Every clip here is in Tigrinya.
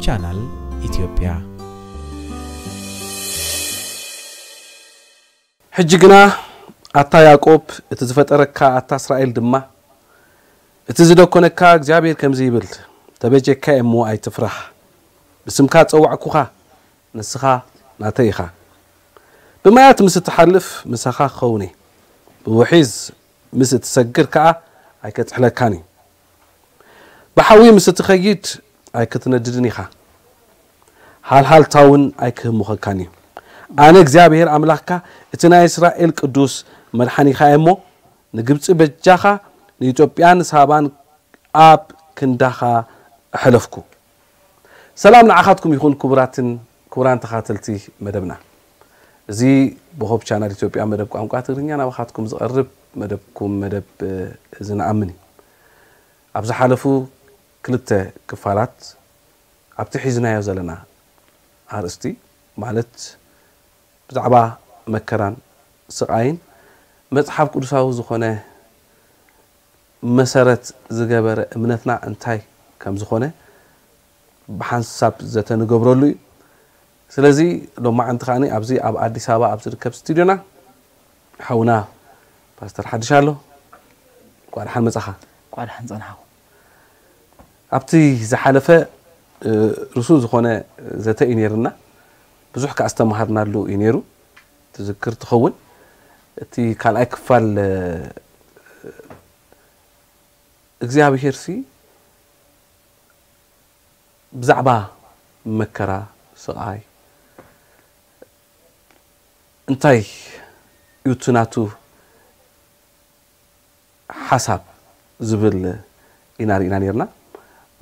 ቻናል ኢትዮጵያ። ሕጂ ግና ኣታ ያዕቆብ፣ እቲ ዝፈጠረካ ኣታ እስራኤል ድማ፣ እቲ ዝደኮነካ እግዚኣብሔር ከምዚ ይብል፣ ተበጀካ እሞ ኣይትፍራሕ። ብስምካ ጸዋዕኩኻ፣ ንስኻ ናተይ ኢኻ። ብማያት ምስ እትሓልፍ ምሳኻ ክኸውን እየ። ብውሒዝ ምስ እትሰግር ከኣ ኣይከጥሕለካን እዩ። ብሓዊ ምስ እትኸይድ ኣይክትነድድን ኢኻ። ሃልሃልታ እውን ኣይክህምኸካን እዩ። ኣነ እግዚኣብሔር ኣምላኽካ እቲ ናይ እስራኤል ቅዱስ መድሓኒኻ እየ እሞ ንግብፂ በጃኻ ንኢትዮጵያን ሳባን ኣብ ክንዳኻ ኣሐለፍኩ። ሰላም ንዓኻትኩም ይኹን ክቡራትን ክቡራን ተኻተልቲ መደብና። እዚ ብሆፕ ቻናል ኢትዮጵያ መደብ ቋንቋ ትግርኛ ናባኻትኩም ዝቐርብ መደብኩም መደብ እዚ ንኣምን እዩ። ኣብ ዝሓለፉ ክልተ ክፋላት ኣብቲ ሒዝናዮ ዘለና ኣርእስቲ ማለት ብዛዕባ መከራን ስቓይን መጽሓፍ ቅዱሳዊ ዝኾነ መሰረት ዝገበረ እምነትና እንታይ ከም ዝኾነ ብሓንሳብ ዘተ ንገብረሉ እዩ። ስለዚ ሎማዓንቲ ከኣ ኣብዚ ኣብ ኣዲስ ኣበባ ኣብ ዝርከብ ስቱድዮና ሓውና ፓስተር ሓድሽ ኣሎ። እንኳዕ ደሓን መጻኻ። እንኳዕ ደሓን ጸናሕኩ። ኣብቲ ዝሓለፈ ርሱን ዝኾነ ዘተ እዩ ነይርና። ብዙሕ ከኣ ዝተምሃርናሉ እዩ ነይሩ። ትዝክር ትኸውን። እቲ ካልኣይ ክፋል እግዚኣብሄር ሲ ብዛዕባ መከራ፣ ስቓይ እንታይ እዩ እቲ ናቱ ሓሳብ ዝብል ኢና ርኢና ነርና።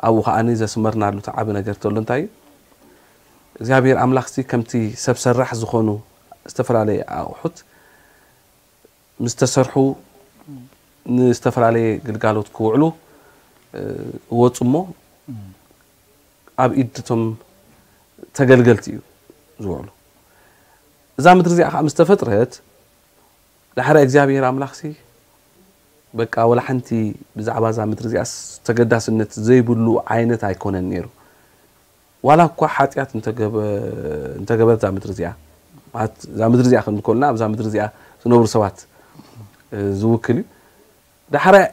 ኣብኡ ከዓኒ ዘስመርናሉ እቲ ዓቢ ነገር ተሎ እንታይ እዩ እግዚኣብሔር ኣምላኽሲ ከምቲ ሰብ ሰራሕ ዝኾኑ ዝተፈላለየ ኣቑሑት ምስ ተሰርሑ ንዝተፈላለየ ግልጋሎት ክውዕሉ እወፁ እሞ ኣብ ኢድ እቶም ተገልገልቲ እዩ ዝውዕሉ። እዛ ምድሪ እዚኣ ከዓ ምስ ተፈጥረት ዳሕራይ እግዚኣብሔር ኣምላኽሲ በቃ ወላ ሓንቲ ብዛዕባ እዛ ምድሪ እዚኣስ ተገዳስነት ዘይብሉ ዓይነት ኣይኮነን ነይሩ። ዋላ እኳ ሓጢኣት እንተገበ- እንተገበረት እዛ ምድሪ እዚኣ ማለት እዛ ምድሪ እዚኣ ክንብል ከሎና ኣብዛ ምድሪ እዚኣ ዝነብሩ ሰባት ዝውክል እዩ። ዳሕራይ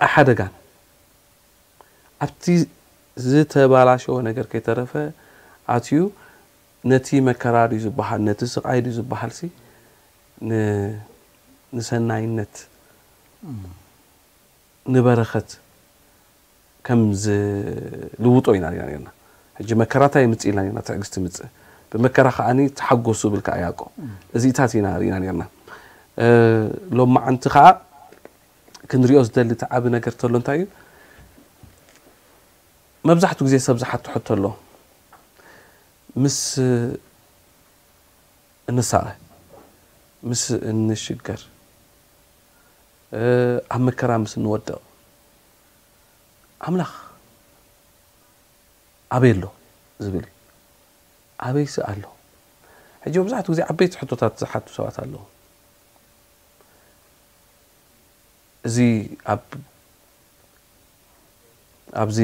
ኣይሓደጋን ኣብቲ ዝተባላሸወ ነገር ከይተረፈ ኣትዩ ነቲ መከራ ድዩ ዝበሃል ነቲ ስቓይ ድዩ ዝበሃል ሲ ንሰናይነት ንበረኸት ከም ዝልውጦ ኢና ርኢና ነርና። ሕጂ መከራታ የምፅእ ኢልና ነርና ትዕግስቲ ምፅእ ብመከራ ከዓኒ ተሓጎሱ ብል ከዓ ያዕቆብ እዚኢታት ኢና ርኢና ነርና። ሎማዓንቲ ከዓ ክንሪኦ ዝደሊ እቲ ዓቢ ነገር ተሎ እንታይ እዩ? መብዛሕትኡ ግዜ ሰብ ዝሓቶ ሕቶ ኣሎ። ምስ እንሳቐ፣ ምስ እንሽገር፣ ኣብ መከራ ምስ እንወድቕ ኣምላኽ ኣበይ ኣሎ ዝብል እዩ። ኣበይሲ ኣሎ? ሕጂ መብዛሕትኡ ግዜ ዓበይቲ ሕቶታት ዝሓቱ ሰባት ኣለዉ። እዚ ኣብ ኣብዚ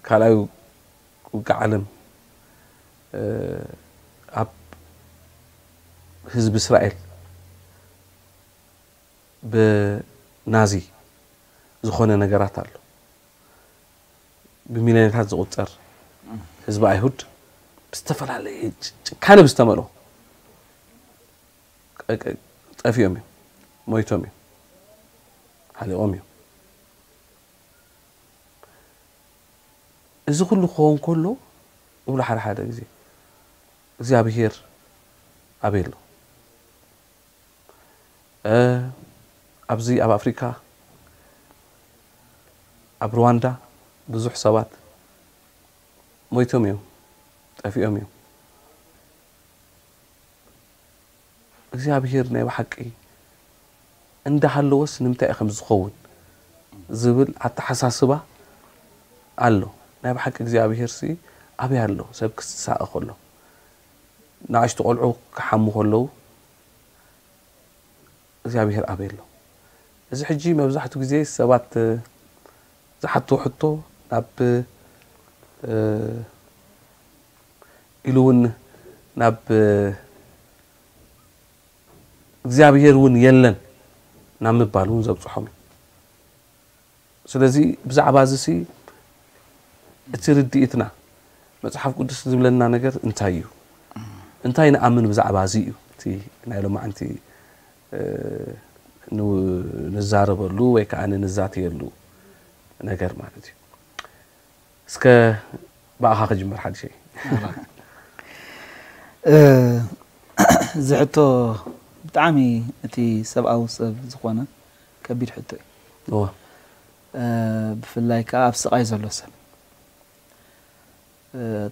ካልኣይ ውግእ ዓለም ኣብ ህዝቢ እስራኤል ብናዚ ዝኾነ ነገራት ኣሎ። ብሚልዮናት ዝቑጸር ህዝቢ ኣይሁድ ብዝተፈላለየ ጭካነ ብዝተመልኦ ጠፊኦም እዮም፣ ሞይቶም እዮም፣ ሓሊቖም እዮም። እዚ ኩሉ ክኸውን ከሎ እብሉ ሓደ ሓደ ግዜ እግዚኣብሄር ኣበይ ኣሎ? ኣብዚ ኣብ ኣፍሪካ ኣብ ሩዋንዳ ብዙሕ ሰባት ሞይቶም እዮም፣ ጠፊኦም እዮም። እግዚኣብሄር ናይ ብሓቂ እንዳሃለወስ ንምንታይ እዩ ከም ዝኸውን ዝብል ኣተሓሳስባ ኣሎ። ናይ ብሓቂ እግዚኣብሄር ሲ ኣበይ ኣሎ? ሰብ ክሳቐ ከሎ ንኣሽቱ ቆልዑ ክሓሙ ከለዉ እግዚኣብሄር ኣበይ ኣሎ? እዚ ሕጂ መብዛሕትኡ ግዜ ሰባት ዝሓትዎ ሕቶ ናብ ኢሉ እውን ናብ እግዚኣብሔር እውን የለን ናብ ምባል እውን ዘብፅሖም እዩ። ስለዚ ብዛዕባ እዚ ሲ እቲ ርድኢትና መፅሓፍ ቅዱስ ዝብለና ነገር እንታይ እዩ? እንታይ ንኣምን ብዛዕባ እዚ እዩ እቲ ናይ ሎማዓንቲ ንዛረበሉ ወይ ከዓ ንዛተየሉ ነገር ማለት እዩ። እስከ ብኣኻ ክጅምር ሓድሸይ። እዚ ሕቶ ብጣዕሚ እቲ ሰብኣዊ ሰብ ዝኾነ ከቢድ ሕቶ እዩ። ብፍላይ ከዓ ኣብ ስቓይ ዘሎ ሰብ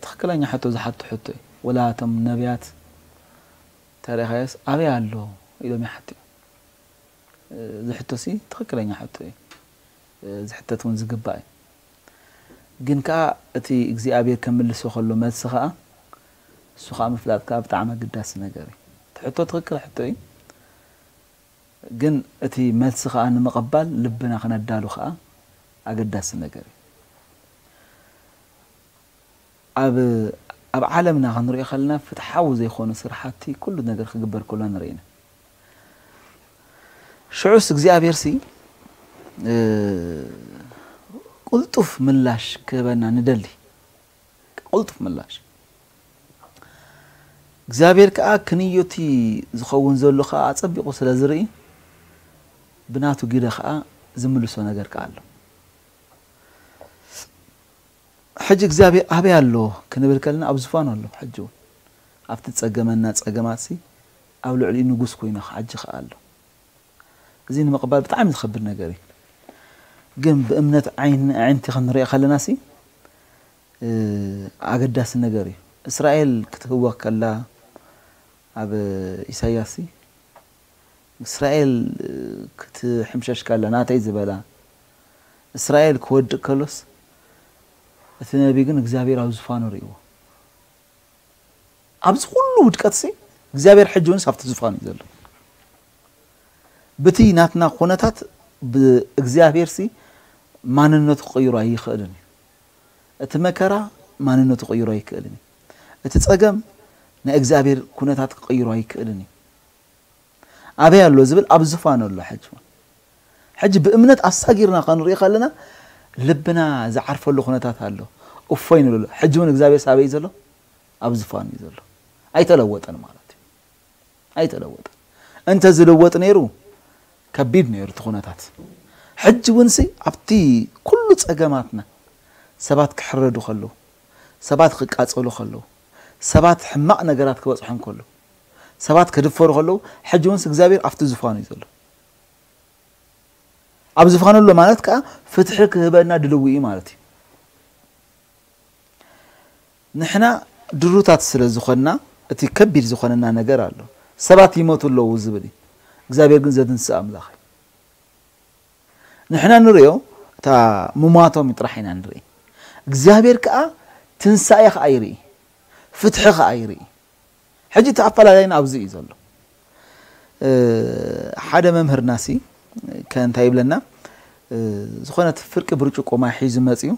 ትኽክለኛ ሕቶ ዝሓቱ ሕቶ እዩ። ወላ እቶም ነቢያት ተሪኻዮስ ኣበይ ኣሎ ኢሎም ይሓትዩ። እዚ ሕቶ ሲ ትኽክለኛ ሕቶ እዩ። ዝሕተት እውን ዝግባእ እዩ። ግን ከዓ እቲ እግዚኣብሔር ከምልሶ ከሎ መልሲ ከዓ እሱ ከዓ ምፍላጥ ከዓ ብጣዕሚ ኣገዳሲ ነገር እዩ። እቲ ሕቶ ትኽክል ሕቶ እዩ። ግን እቲ መልሲ ከዓ ንምቕባል ልብና ክነዳሉ ከዓ ኣገዳሲ ነገር እዩ። ኣብ ኣብ ዓለምና ክንሪኦ ከለና ፍትሓዊ ዘይኮኑ ስራሕቲ ኩሉ ነገር ክግበር ከሎ ንርኢ ኢና። ሽዑስ እግዚኣብሔር ሲ ቅልጡፍ ምላሽ ክህበና ንደሊ። ቅልጡፍ ምላሽ እግዚኣብሔር ከዓ ክንዮቲ ዝኸውን ዘሎ ከዓ ኣፀቢቑ ስለ ዝርኢ ብናቱ ግደ ከዓ ዝምልሶ ነገር ከዓ ኣሎ። ሕጂ እግዚኣብሔር ኣበይ ኣሎ ክንብል ከለና ኣብ ዝፋኑ ኣሎ። ሕጂ እውን ኣብቲ ዝፀገመና ፀገማት ሲ ኣብ ልዕሊኡ ንጉስ ኮይኑ ሕጂ ከዓ ኣሎ። እዚ ንምቕባል ብጣዕሚ ዝኸብድ ነገር እዩ። ግን ብእምነት ዓይኒ ኣዒንቲ ክንሪኦ ከለና ሲ ኣገዳሲ ነገር እዩ። እስራኤል ክትህወኽ ከላ ኣብ ኢሳያስ ሲ እስራኤል ክትሕምሸሽ ከላ ናተይ ዝበላ እስራኤል ክወድቅ ከሎስ እቲ ነቢ ግን እግዚኣብሔር ኣብ ዝፋኑ ርእይዎ። ኣብዚ ኩሉ ውድቀት ሲ እግዚኣብሔር ሕጂ እውን ኣብቲ ዝፋኑ እዩ ዘሎ። ብቲ ናትና ኩነታት ብእግዚኣብሔር ሲ ማንነቱ ክቕይሮ ኣይኽእልን እዩ። እቲ መከራ ማንነቱ ክቕይሮ ኣይክእልን እዩ። እቲ ጸገም ናይ እግዚኣብሔር ኩነታት ክቕይሮ ኣይክእልን እዩ። ኣበይ ኣሎ ዝብል ኣብ ዝፋኑ ኣሎ። ሕጂ ሕጂ ብእምነት ኣሳጊርና ክንሪኢ ከለና ልብና ዝዓርፈሉ ኩነታት ኣሎ። እፎይ ንብለሉ። ሕጂ እውን እግዚኣብሔር ሳበይ ዘሎ ኣብ ዝፋኑ እዩ ዘሎ። ኣይተለወጠን ማለት እዩ። ኣይተለወጠን። እንተ ዝልወጥ ነይሩ ከቢድ ነይሩ እቲ ኩነታት። ሕጂ እውን ሲ ኣብቲ ኩሉ ጸገማትና ሰባት ክሕረዱ ከለዉ፣ ሰባት ክቃጸሉ ከለዉ፣ ሰባት ሕማቕ ነገራት ክበጽሖም ከሎ፣ ሰባት ክድፈሩ ከለዉ፣ ሕጂ እውን ሲ እግዚኣብሔር ኣብቲ ዝፋኑ እዩ ዘሎ። ኣብ ዝፋኑ ኣሎ ማለት ከዓ ፍትሒ ክህበና ድልዊ እዩ ማለት እዩ። ንሕና ድሩታት ስለ ዝኾንና እቲ ከቢድ ዝኾነና ነገር ኣሎ። ሰባት ይሞቱ ኣለዉ ዝብል እዩ። እግዚኣብሔር ግን ዘትንስእ ኣምላኽ እዩ። ንሕና ንርእዮ እታ ምሟቶም ጥራሕ ኢና ንርኢ። እግዚኣብሔር ከዓ ትንሳኤ ከዓ ይርኢ፣ ፍትሒ ከዓ ይርኢ። ሕጂ እቲ ኣፈላላይና ኣብዚ እዩ ዘሎ። ሓደ መምህርና ሲ ከ እንታይ ይብለና? ዝኾነት ፍርቂ ብርጭቆ ማይ ሒዙ መፅዩ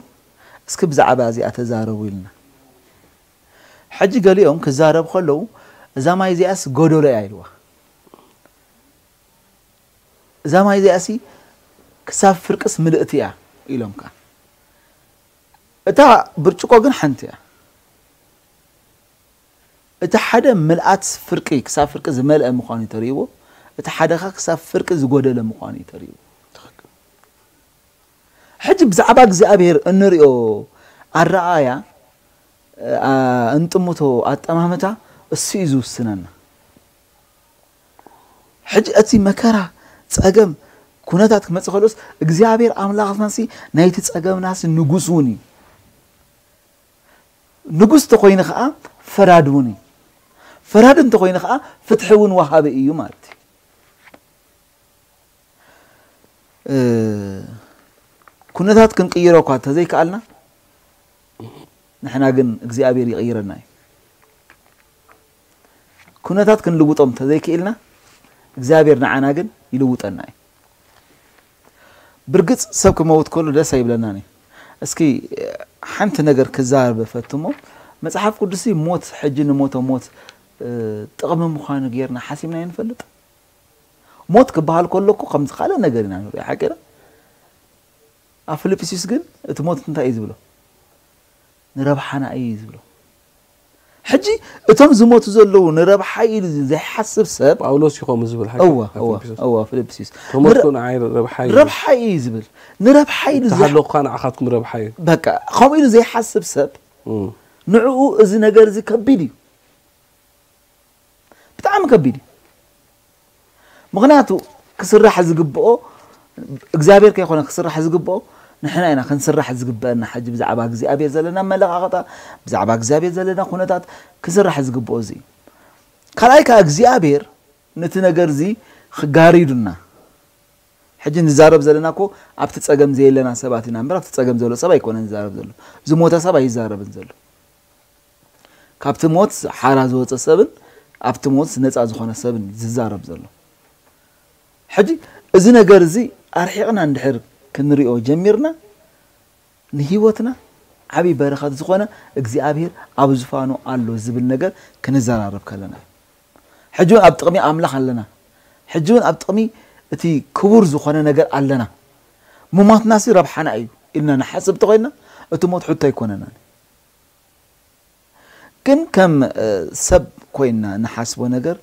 እስኪ ብዛዕባ እዚኣ ተዛረቡ ኢልና። ሕጂ ገሊኦም ክዛረቡ ከለዉ እዛ ማይ እዚኣስ ጎደሎ እያ ኢልዋ። እዛ ማይ እዚኣሲ ክሳብ ፍርቅስ ምልእቲ እያ ኢሎም ከኣ እታ ብርጭቆ ግን ሓንቲ እያ። እቲ ሓደ ምልኣት ፍርቂ ክሳብ ፍርቂ ዝመልአ ምዃኑ ተርእይዎ፣ እቲ ሓደ ከኣ ክሳብ ፍርቂ ዝጎደለ ምዃኑ ተርእይዎ። ሕጂ ብዛዕባ እግዚኣብሔር እንሪኦ ኣረኣእያ፣ ኣ፣ እንጥምቶ ኣጠማምታ እሱ እዩ ዝውስነና። ሕጂ እቲ መከራ፣ ጸገም፣ ኩነታት ክመጽእ ከሎስ እግዚኣብሔር ኣምላኽናሲ ናይቲ ጸገምናሲ ንጉስ እውን እዩ። ንጉስ እንተኾይኑ ኸዓ ፈራዲ እውን እዩ። ፈራዲ እንተኾይኑ ኸዓ ፍትሒ እውን ወሃቢ እዩ ማለት እዩ። ኩነታት ክንቅይሮ እኳ እንተዘይከኣልና ንሕና ግን እግዚኣብሔር ይቕይረና እዩ። ኩነታት ክንልውጦም እንተዘይክኢልና እግዚኣብሔር ንዓና ግን ይልውጠና እዩ። ብርግጽ ሰብ ክመውት ከሎ ደስ ኣይብለናን እዩ። እስኪ ሓንቲ ነገር ክዛረብ ፈትሞ። መጽሓፍ ቅዱስ ሞት፣ ሕጂ ንሞተ ሞት ጥቕሚ ምዃኑ ጌርና ሓሲብና ንፈልጥ? ሞት ክበሃል ከሎ እኮ ከምዚ ካልእ ነገር ኢና ንሪኦ ሓቂና። ኣብ ፊልጵስዩስ ግን እቲ ሞት እንታይ እዩ ዝብሎ? ንረብሓና እዩ ዝብሎ። ሕጂ እቶም ዝሞቱ ዘለዉ ንረብሓ ኢሉ ዘይሓስብ ሰብ። ጳውሎስ እዩ ከምኡ ዝብል ሓቂ እወ ኣብ እወ ፊልጵስዩስ። እወ ፊልጵስዩስ ተሞትኩ ንረ- ንዓይ ረብሓ እዩ። ረብሓ እዩ ዝብል። ንረብሓ ኢሉ ዝሓ- ተሃለኹ ከዓ ንዓኻትኩም ረብሓ እዩ። በቃ ከምኡ ኢሉ ዘይሓስብ ሰብ እም። ንዕኡ እዚ ነገር እዚ ከቢድ እዩ። ብጣዕሚ ከቢድ እዩ። ምኽንያቱ ክስራሕ ዝግብኦ እግዚኣብሔር ከይኮነ ክስራሕ ዝግብኦ ንሕና ኢና ክንስራሕ ዝግበአና። ሕጂ ብዛዕባ እግዚኣብሔር ዘለና መለኻኸታ፣ ብዛዕባ እግዚኣብሔር ዘለና ኩነታት ክስራሕ ዝግብኦ እዚ እዩ። ካልኣይ ከዓ እግዚኣብሔር ነቲ ነገር እዚ ክጋሪዱና። ሕጂ ንዛረብ ዘለና እኮ ኣብቲ ጸገም ዘየለና ሰባት ኢና እምበር ኣብቲ ጸገም ዘሎ ሰብ ኣይኮነን ዝዛረብ ዘሎ። ዝሞተ ሰብ ኣይዛረብን ዘሎ። ካብቲ ሞት ሓራ ዝወፀ ሰብን ኣብቲ ሞት ነፃ ዝኾነ ሰብን ዝዛረብ ዘሎ። ሕጂ እዚ ነገር እዚ ኣርሒቕና እንድሕር ክንሪኦ ጀሚርና ንህይወትና ዓብዪ በረኸት ዝኾነ እግዚኣብሔር ኣብ ዝፋኑ ኣሎ ዝብል ነገር ክንዘራረብ ከለና እዩ። ሕጂ እውን ኣብ ጥቕሚ ኣምላኽ ኣለና። ሕጂ እውን ኣብ ጥቕሚ እቲ ክቡር ዝኾነ ነገር ኣለና። ምሟትናሲ ረብሓና እዩ ኢልና ንሓስብ ተኾይንና እቲ ሞት ሕቶ ኣይኮነናን። ግን ከም ሰብ ኮይንና ንሓስቦ ነገር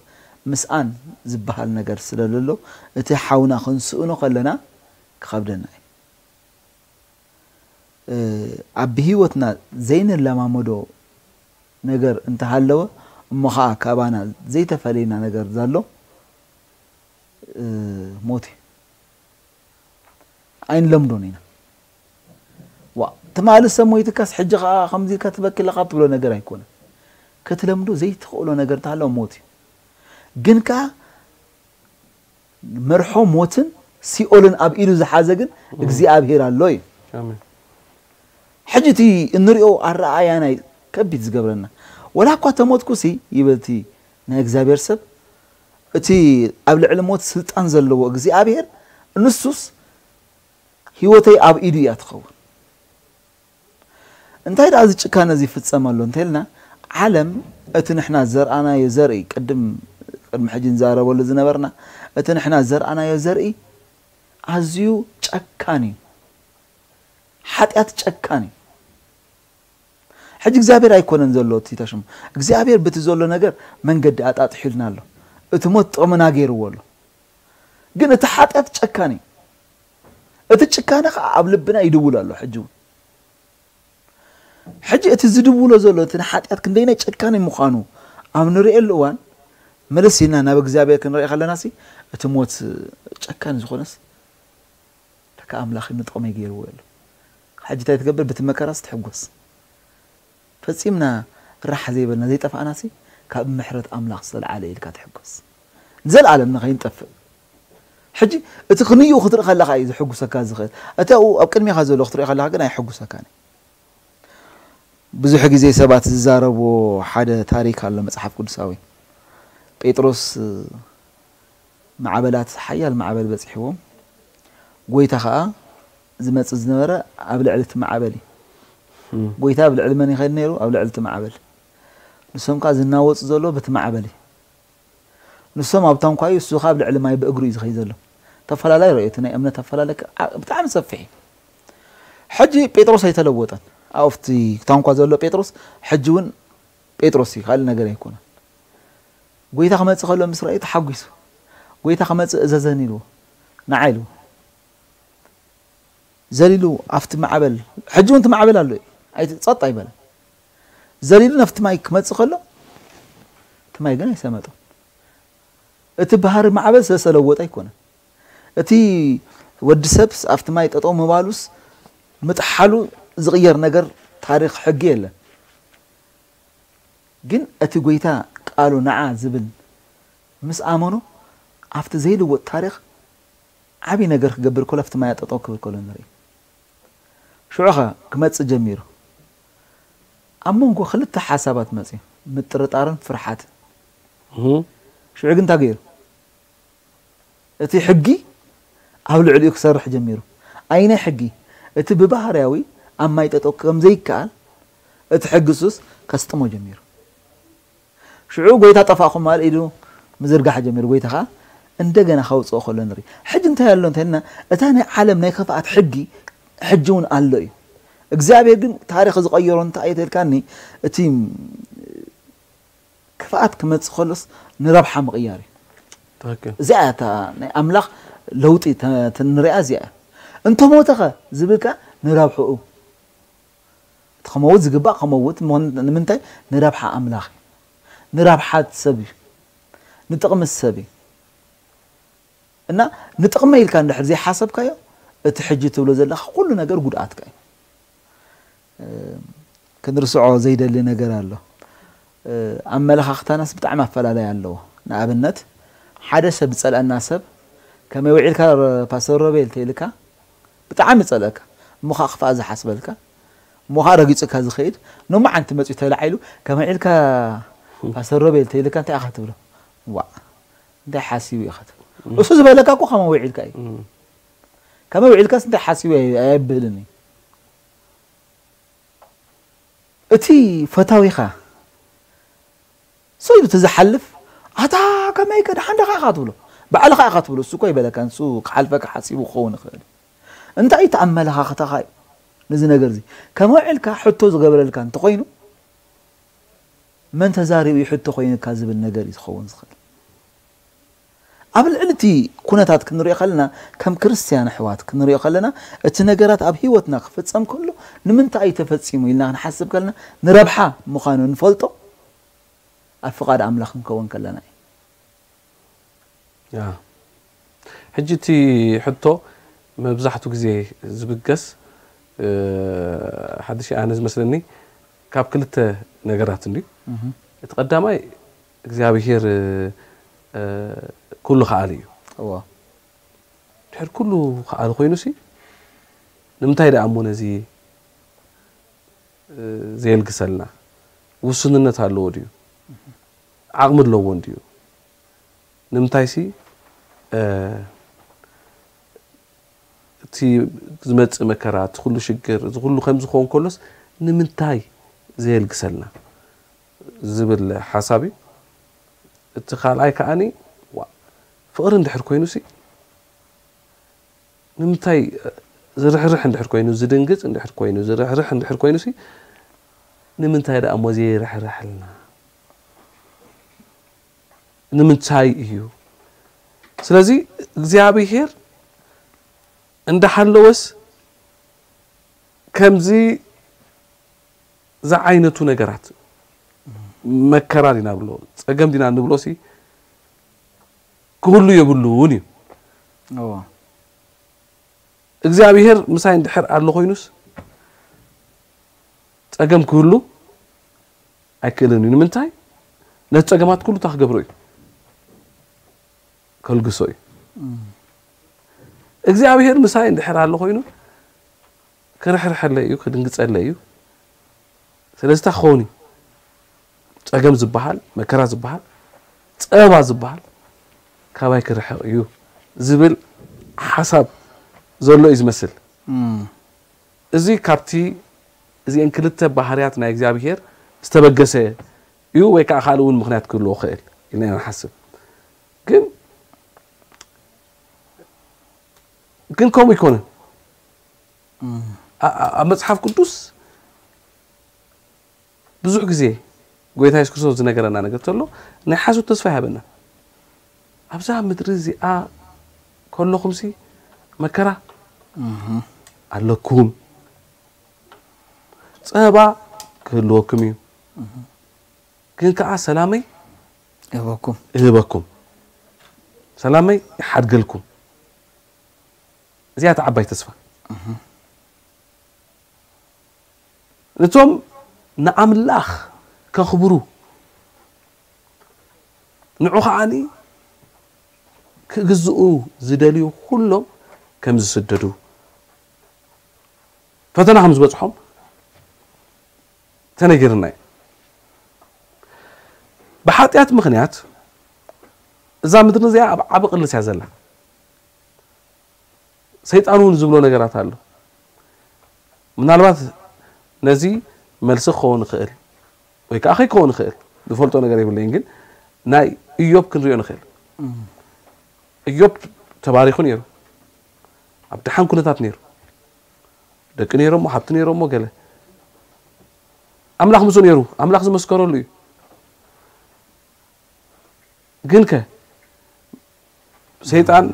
ምስኣን ዝበሃል ነገር ስለለሎ እቲ ሓውና ክንስእኖ ከለና ክኸብደና እዩ። ኣብ ብህይወትና ዘይንለማመዶ ነገር እንተሃለወ እሞ ኸዓ ካባና ዘይተፈለየና ነገር ዘሎ ሞት እዩ። ኣይንለምዶን ኢና። ዋ ትማሊ ሰብ ሞይትካስ ሕጂ ከዓ ከምዚ ኢልካ ትበኪ ኣለኻ ትብሎ ነገር ኣይኮነን። ክትለምዶ ዘይትኽእሎ ነገር እንተሃለወ ሞት እዩ። ግን ከዓ መርሖ ሞትን ሲኦልን ኣብ ኢዱ ዝሓዘ ግን እግዚኣብሔር ኣሎ እዩ። ኣሜን። ሕጂ እቲ እንሪኦ ኣረኣእያ ናይ ከቢድ ዝገብረና ወላ እኳ ተሞትኩሲ ይበል እቲ ናይ እግዚኣብሔር ሰብ እቲ ኣብ ልዕሊ ሞት ስልጣን ዘለዎ እግዚኣብሔር ንሱስ ህይወተይ ኣብ ኢዱ እያ ትኸውን። እንታይ ደኣ እዚ ጭካነ እዚ ይፍጸም ኣሎ እንተልና ዓለም እቲ ንሕና ዘርኣናዮ ዘርኢ ቅድም ቅድሚ ሕጂ ንዛረበሉ ዝነበርና እቲ ንሕና ዘርኣናዮ ዘርኢ ኣዝዩ ጨካን እዩ። ሓጢኣት ጨካን እዩ። ሕጂ እግዚኣብሔር ኣይኮነን ዘሎ እቲ ተሽሙ እግዚኣብሔር ብቲ ዘሎ ነገር መንገዲ ኣጣጥሒልና ኣሎ። እቲ ሞት ጥቕምና ገይርዎ ኣሎ። ግን እቲ ሓጢኣት ጨካን እዩ። እቲ ጭካነ ከዓ ኣብ ልብና ይድውል ኣሎ ሕጂ እውን። ሕጂ እቲ ዝድውሎ ዘሎ እቲ ንሓጢኣት ክንደይናይ ጨካኒ ምዃኑ ኣብ ንርእየሉ እዋን መለስ ኢልና ናብ እግዚኣብሔር ክንርኢ ከለና ሲ እቲ ሞት ጨካኒ ዝኾነስ ለካ ኣምላኽ ንጥቕመይ ገይርዎ ኣሎ። ሕጂ እንታይ ትገብር ብቲ መከራስ ትሕጎስ። ፈጺምና ራሕ ዘይበልና ዘይጠፋእና ሲ ካብ ምሕረት ኣምላኽ ዝተልዓለ ኢልካ ትሕጎስ። ንዘለኣለም ንኸይንጠፍእ። ሕጂ እቲ ክንይኡ ክትርኢ ከለኻ እዩ ዝሕጉሰካ ዝኽእል። እቲ ኣብኡ ኣብ ቅድሚኻ ዘሎ ክትርኢ ከለኻ ግን ኣይሕጉሰካን እዩ። ብዙሕ ግዜ ሰባት ዝዛረብዎ ሓደ ታሪክ ኣሎ መጽሓፍ ቅዱሳዊ። ጴጥሮስ ማዕበላት ሓያል ማዕበል በጺሕዎም። ጎይታ ኸኣ ዝመጽእ ዝነበረ ኣብ ልዕሊ እቲ ማዕበል እዩ። ጎይታ ኣብ ልዕሊ መን ይኸይድ ነይሩ? ኣብ ልዕሊ እቲ ማዕበል። ንሶም ከኣ ዝናወጹ ዘሎ በቲ ማዕበል እዩ። ንሶም ኣብ ታንኳ እዩ፣ እሱ ከኣ ኣብ ልዕሊ ማይ ብእግሩ እዩ ዝኸይድ ዘሎ። ተፈላለይ ርእዮ፣ እቲ ናይ እምነት ኣፈላለይ ከኣ ብጣዕሚ ሰፊሕ እዩ። ሕጂ ጴጥሮስ ኣይተለወጠን። ኣብቲ ታንኳ ዘሎ ጴጥሮስ ሕጂ እውን ጴጥሮስ እዩ፣ ካልእ ነገር ኣይኮነን። ጎይታ ክመጽእ ከሎ ምስ ረኣዩ ተሓጒሱ። ጎይታ ክመጽእ እዘዘኒ ኢልዎ። ንዓ ኢልዎ። ዘሊሉ ኣብቲ ማዕበል፣ ሕጂ እውን እቲ ማዕበል ኣሎ እዩ። ኣይ ጸጥ ኣይበለን። ዘሊሉ ናብቲ ማይ ክመጽእ ከሎ እቲ ማይ ግን ኣይሰመጦን። እቲ ባህሪ ማዕበል ስለሰለወጠ ኣይኮነን። እቲ ወዲ ሰብስ ኣብቲ ማይ ጠጠው ምባሉስ ምጥሓሉ ዝቕየር ነገር ታሪኽ ሕጊ የለን። ግን እቲ ጎይታ ቃሉ ንዓ ዝብል ምስ ኣመኖ ኣብቲ ዘይልወጥ ታሪኽ ዓብዪ ነገር ክገብር ከሎ ኣብቲ ማይ ጠጠው ክብል ከሎ ንርኢ። ሽዑ ኸ ክመጽእ ጀሚሩ። ኣብ መንጎ ክልተ ሓሳባት መጽዩ፣ ምጥርጣርን ፍርሓትን። እህ። ሽዑ ግን እንታይ ገይሩ? እቲ ሕጊ ኣብ ልዕሊኡ ክሰርሕ ጀሚሩ። ኣይነ ሕጊ? እቲ ብባህርያዊ ኣብ ማይ ጠጠው ከም ዘይከኣል እቲ ሕጊ ሱስ ከስጥሞ ጀሚሩ። ሽዑ ጎይታ ጠፋእኹም ማለት ኢዱ ምዝርጋሕ ጀሚሩ። ጎይታ ኸዓ እንደገና ከውፅኦ ከሎ ንርኢ። ሕጂ እንታይ ኣሎ እንተልና፣ እታ ናይ ዓለም ናይ ክፍኣት ሕጊ ሕጂ እውን ኣሎ እዩ። እግዚኣብሔር ግን ታሪኽ ዝቐየሮ እንታይ እዩ ተልካኒ፣ እቲ ክፍኣት ክመጽእ ከሎስ ንረብሓ ምቕያር እዩ። ትኽክል። እዚኣ እያ እታ ናይ ኣምላኽ ለውጢ ተ- ተ- ንሪኣ እዚኣ እያ። እንተሞተኸ ዝብልካ ንረብሕኡ እቲ ከመውት ዝግባእ ከመውት ምኾን ንምንታይ? ንረብሓ ኣምላኽ እዩ። ንረብሓ ሰብ እዩ። ንጥቕሚ ሰብ እዩ። እና ንጥቕመ ኢልካ እንድሕር ዘይሓሰብካዮ እቲ ሕጂ ትብሎ ዘለኻ ኩሉ ነገር ጉድኣትካ እዩ። ክንርስዖ ዘይደሊ ነገር ኣሎ። ኣመለኻኽታናስ ብጣዕሚ ኣፈላለይ ኣለዎ። ንኣብነት ሓደ ሰብ ዝጸልአና ሰብ ከመይ ውዒልካ ፓስተር ሮቤል ተይልካ ብጣዕሚ ይጸልአካ። እሞ ኸዓ ክፍኣ ዝሓስበልካ እሞ ኸዓ ረጊጹካ ዝኸይድ ኖማዓንቲ መጺኡ ተላዒሉ ከመይ ዒልካ ፓስተር ሮቤል ተይልካ እንታይ ኢኻ ትብሎ? ዋዕ እንታይ ሓሲቡ ኢኻ ትብል? እሱ ዝበለካ እኮ ከመይ ውዒልካ እዩ። ከመይ ውዒልካስ እንታይ ሓሲቡ ኣይ- ኣይብልን እዩ። እቲ ፈታዊኻ ሰው ኢሉ እቲ ዝሓልፍ ኣታ ከመይ ከ ደሓን ደኻ ኢኻ ትብሎ ባዕልኻ ኢኻ ትብሎ እሱ እኮ ይበለካ ንሱ ክሓልፈካ ሓሲቡ ክኸውን ይኽእል እዩ። እንታይ እቲ ኣመለኻኽታኻ እዩ ነዚ ነገር እዚ ከመይ ውዒልካ ሕቶ ዝገበረልካ እንተኾይኑ መን ተዛሪቡ እዩ ሕቶ ኮይኑካ ዝብል ነገር እዩ ዝኸውን ዝኽእል። ኣብ ልዕሊ እቲ ኩነታት ክንሪኦ ከለና ከም ክርስትያን ኣሕዋት ክንሪኦ ከለና እቲ ነገራት ኣብ ህይወትና ክፍጸም ከሎ ንምንታይ እዩ ተፈጺሙ ኢልና ክንሓስብ ከለና ንረብሓ ምዃኑ ንፈልጦ ኣብ ፍቓድ ኣምላኽ ክንከውን ከለና እዩ። ያ። ሕጂ እቲ ሕቶ መብዛሕቱ ግዜ ዝብገስ ሓድሽ ኣነ ዝመስለኒ ካብ ክልተ ነገራት እንድዩ። እቲ ቀዳማይ እግዚኣብሄር ኩሉ ከኣሊ እዩ። ድሕር ኩሉ ከኣሊ ኮይኑ ሲ ንምንታይ ደኣ እሞ ነዚ ዘየልግሰልና ውሱንነት ኣለዎ ድዩ? ዓቕሚ ኣለዎ እንድዩ? ንምንታይ ሲ እቲ ዝመጽእ መከራ እቲ ኩሉ ሽግር እዚ ኩሉ ከም ዝኸውን ከሎስ ንምንታይ ዘየልግሰልና ዝብል ሓሳብ እዩ። እቲ ካልኣይ ከዓኒ ፍቕሪ እንድሕር ኮይኑ ሲ ንምንታይ ዝርሕርሕ እንድሕር ኮይኑ ዝድንግፅ እንድሕር ኮይኑ ዝርሕርሕ እንድሕር ኮይኑ ሲ ንምንታይ ደኣ እሞ ዘይርሕርሐልና? ንምንታይ እዩ? ስለዚ እግዚኣብሄር እንዳሃለወስ ከምዚ ዝዓይነቱ ነገራት መከራ ዲና ብሎ ፀገም ዲና ንብሎ ሲ ክህሉ የብሉን እዩ። እግዚኣብሄር ምሳይ እንድሕር ኣሎ ኮይኑስ ፀገም ክህሉ ኣይክእልን እዩ። ንምንታይ? ነቲ ፀገማት ኩሉ እንታይ ክገብሮ እዩ? ከልግሶ እዩ። እግዚኣብሄር ምሳይ እንድሕር ኣሎ ኮይኑ ክርሕርሐለይ እዩ፣ ክድንግፀለይ እዩ። ስለዚ እንታይ ክኸውን እዩ? ፀገም ዝበሃል መከራ ዝበሃል ፀበባ ዝበሃል ካባይ ክርሕቕ እዩ ዝብል ሓሳብ ዘሎ እዩ ዝመስል። እዚ ካብቲ እዚአን ክልተ ባህርያት ናይ እግዚኣብሄር ዝተበገሰ እዩ ወይ ከዓ ካልእ እውን ምኽንያት ክህልዎ ክእል ኢልና ኢና ንሓስብ። ግን ግን ከምኡ ኣይኮነን። ኣብ መፅሓፍ ቅዱስ ብዙሕ ግዜ ጎይታ የሱስ ክርስቶስ ዝነገረና ነገር ተሎ ናይ ሓሶት ተስፋ ይሃበና። ኣብዛ ምድሪ እዚኣ ከለኹምሲ መከራ ኣለኩም፣ ፀባ ክህልወኩም እዩ፣ ግን ከዓ ሰላመይ እህበኩም እህበኩም፣ ሰላመይ ይሓድገልኩም። እዚኣ እታ ዓባይ ተስፋ። ነቶም ንኣምላኽ ከኽብሩ ንዑ ከዓኒ ክግዝኡ ዝደልዩ ኩሎም ከም ዝስደዱ ፈተና ከም ዝበፅሖም ተነጊርና እዩ። ብሓጢኣት ምኽንያት እዛ ምድሪ እዚኣ ኣብ ዓቢ ቅልስ እያ ዘላ። ሰይጣን እውን ዝብሎ ነገራት ኣሎ። ምናልባት ነዚ መልሲ ክኸውን ይኽእል ወይ ከዓ ከይክኸውን ይኽእል፣ ዝፈልጦ ነገር የብለይን። ግን ናይ እዮብ ክንሪኦ ንኽእል። እዮብ ተባሪኹ ነይሩ፣ ኣብ ደሓን ኩነታት ነይሩ፣ ደቂ ነይሮሞ፣ ሃብቲ ነይሮሞ፣ ገለ ኣምላኽ ምስኡ ነይሩ፣ ኣምላኽ ዝመስከረሉ እዩ። ግንከ ሰይጣን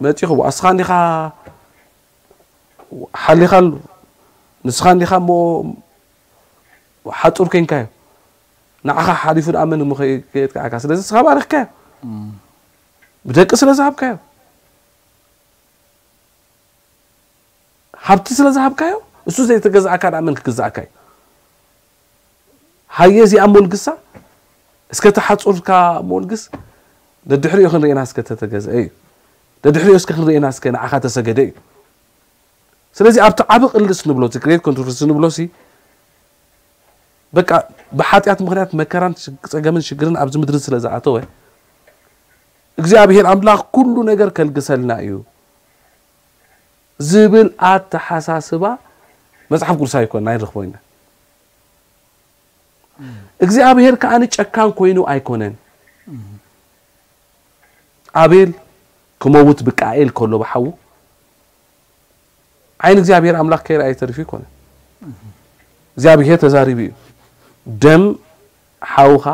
መፂኹ፣ ኣስኻ እንዲኻ ሓሊኻሉ፣ ንስኻ እንዲኻ እሞ ሓፁር ኮይንካዮ፣ ንዓኻ ሓሊፉ ደኣ መን እሞ ከየጥቅዓካ? ስለዚ ንስኻ ባሪኽካዮ፣ ብደቂ ስለ ዝሃብካዮ፣ ሃብቲ ስለ ዝሃብካዮ፣ እሱ ዘይተገዛእካ ደኣ መን ክግዛእካ እዩ? ሃየ እዚኣ ሞልግሳ፣ እስከ ተሓፁርካ ሞልግስ፣ ደድሕሪኡ ክንርእየና እስከ ተተገዝአ እዩ። ደድሕሪኡ እስከ ክንርእየና እስከ ንዓኻ ተሰገደ እዩ። ስለዚ ኣብቲ ዓቢ ቅልስ ንብሎ፣ እቲ ግሬት ኮንትሮቨርሲ ንብሎ ሲ፣ በቃ ብሓጢኣት ምኽንያት መከራን ሽግ-፣ ጸገምን ሽግርን ኣብዚ ምድሪ ስለ ዝኣተወ፣ እግዚኣብሔር ኣምላኽ ኩሉ ነገር ከልግሰልና እዩ ዝብል ኣተሓሳስባ መጽሓፍ ቅዱሳዊ ኣይኮነን፣ ኣይንረኽቦ ኢና። እግዚኣብሔር ከኣ ጨካን ኮይኑ ኣይኮነን። ኣቤል ክመውት ብቃኤል ከሎ ብሓዉ ዓይን እግዚኣብሔር ኣምላኽ ከይረኣየ ተሪፉ ኣይኮነን። እግዚኣብሔር ተዛሪቡ እዩ። ደም ሓውኻ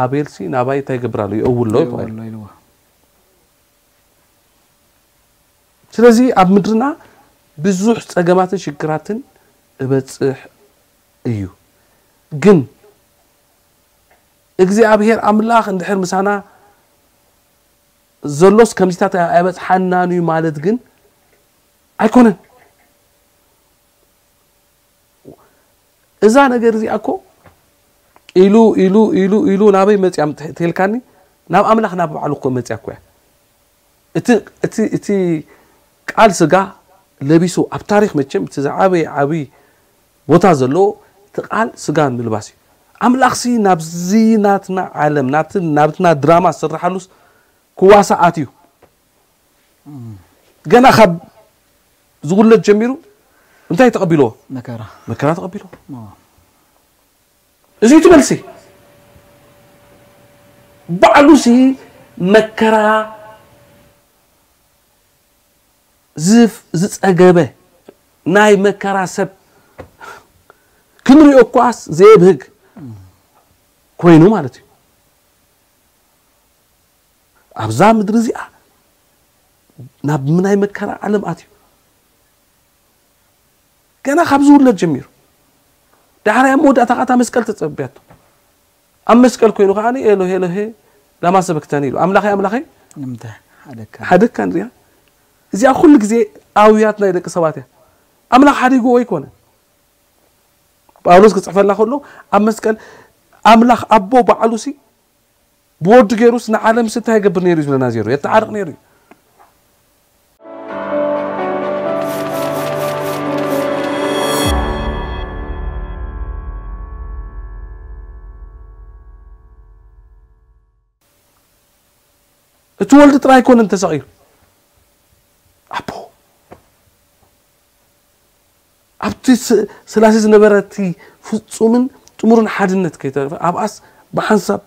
ኣቤልሲ ናባይ እንታይ ይገብር ኣሎ? ይእውሎ እዩ ተባሂሉ። ይእውሎ ኢልዎ። ስለዚ ኣብ ምድርና ብዙሕ ጸገማትን ሽግራትን እበጽሕ እዩ። ግን እግዚኣብሔር ኣምላኽ እንድሕር ምሳና ዘሎስ ከምዚታት ኣይበጽሓናን እዩ ማለት ግን ኣይኮነን። እዛ ነገር እዚኣ እኮ ኢሉ፣ ኢሉ፣ ኢሉ፣ ኢሉ ናበይ መጽያ ምት-፣ ተልካኒ? ናብ ኣምላኽ ናብ ባዕሉ እኮ መጽያ እኮ እያ። እቲ፣ እቲ፣ እቲ ቃል ስጋ ለቢሱ ኣብ ታሪኽ መቸም እቲ ዝዓበየ ዓብዪ ቦታ ዘለዎ እቲ ቃል ስጋ ምልባስ እዩ። ኣምላኽሲ ናብዚ ናትና ዓለም፣ ናብቲ፣ ናብትና ድራማ ዝስርሓሉስ ክዋሳእ ኣትዩ። ገና ካብ ዝውለድ ጀሚሩ እንታይ ተቐቢልዎ? መከራ። መከራ ተቐቢልዎ። ኦ። እዚ እቲ መልሲ። ባዕሉሲ መከራ ዝፍ-፣ ዝጸገበ ናይ መከራ ሰብ ክንሪኦ እኳስ ዘየብህግ ኮይኑ ማለት እዩ። ኣብዛ ምድሪ እዚኣ ናብ ናይ መከራ ዓለም ኣትዩ። ገና ካብ ዝውለድ ጀሚሩ። ዳሕራይ ኣብ መወዳእታ ኸኣ እታ መስቀል ተጸብያቶ። ኣብ መስቀል ኮይኑ ኸኣ ኤሎሄ ኤሎሄ ላማ ሰበክተኒ ኢሉ። ኣምላኸይ ኣምላኸይ ንምንታይ ሓደካ? ሓደካ ንሪኣ። እዚኣ ኩሉ ግዜ ኣውያት ናይ ደቂ ሰባት እያ። ኣምላኽ ሓዲግዎ ኣይኮነ። ጳውሎስ ክጽሕፈላ ከሎ ኣብ መስቀል ኣምላኽ ኣቦ ባዕሉሲ ብወዱ ገይሩስ ንዓለምስ እንታይ ይገብር ነይሩ እዩ ዝብለና ነይሩ? የተዓርቕ ነይሩ እዩ። እቲ ወልዲ ጥራይ ኣይኮነን ተሰቒሉ። ኣቦ ኣብቲ ስ-፣ ስላሴ ዝነበረ እቲ ፍጹምን ጥሙርን ሓድነት ከይተረፈ ኣብኣስ ብሓንሳብ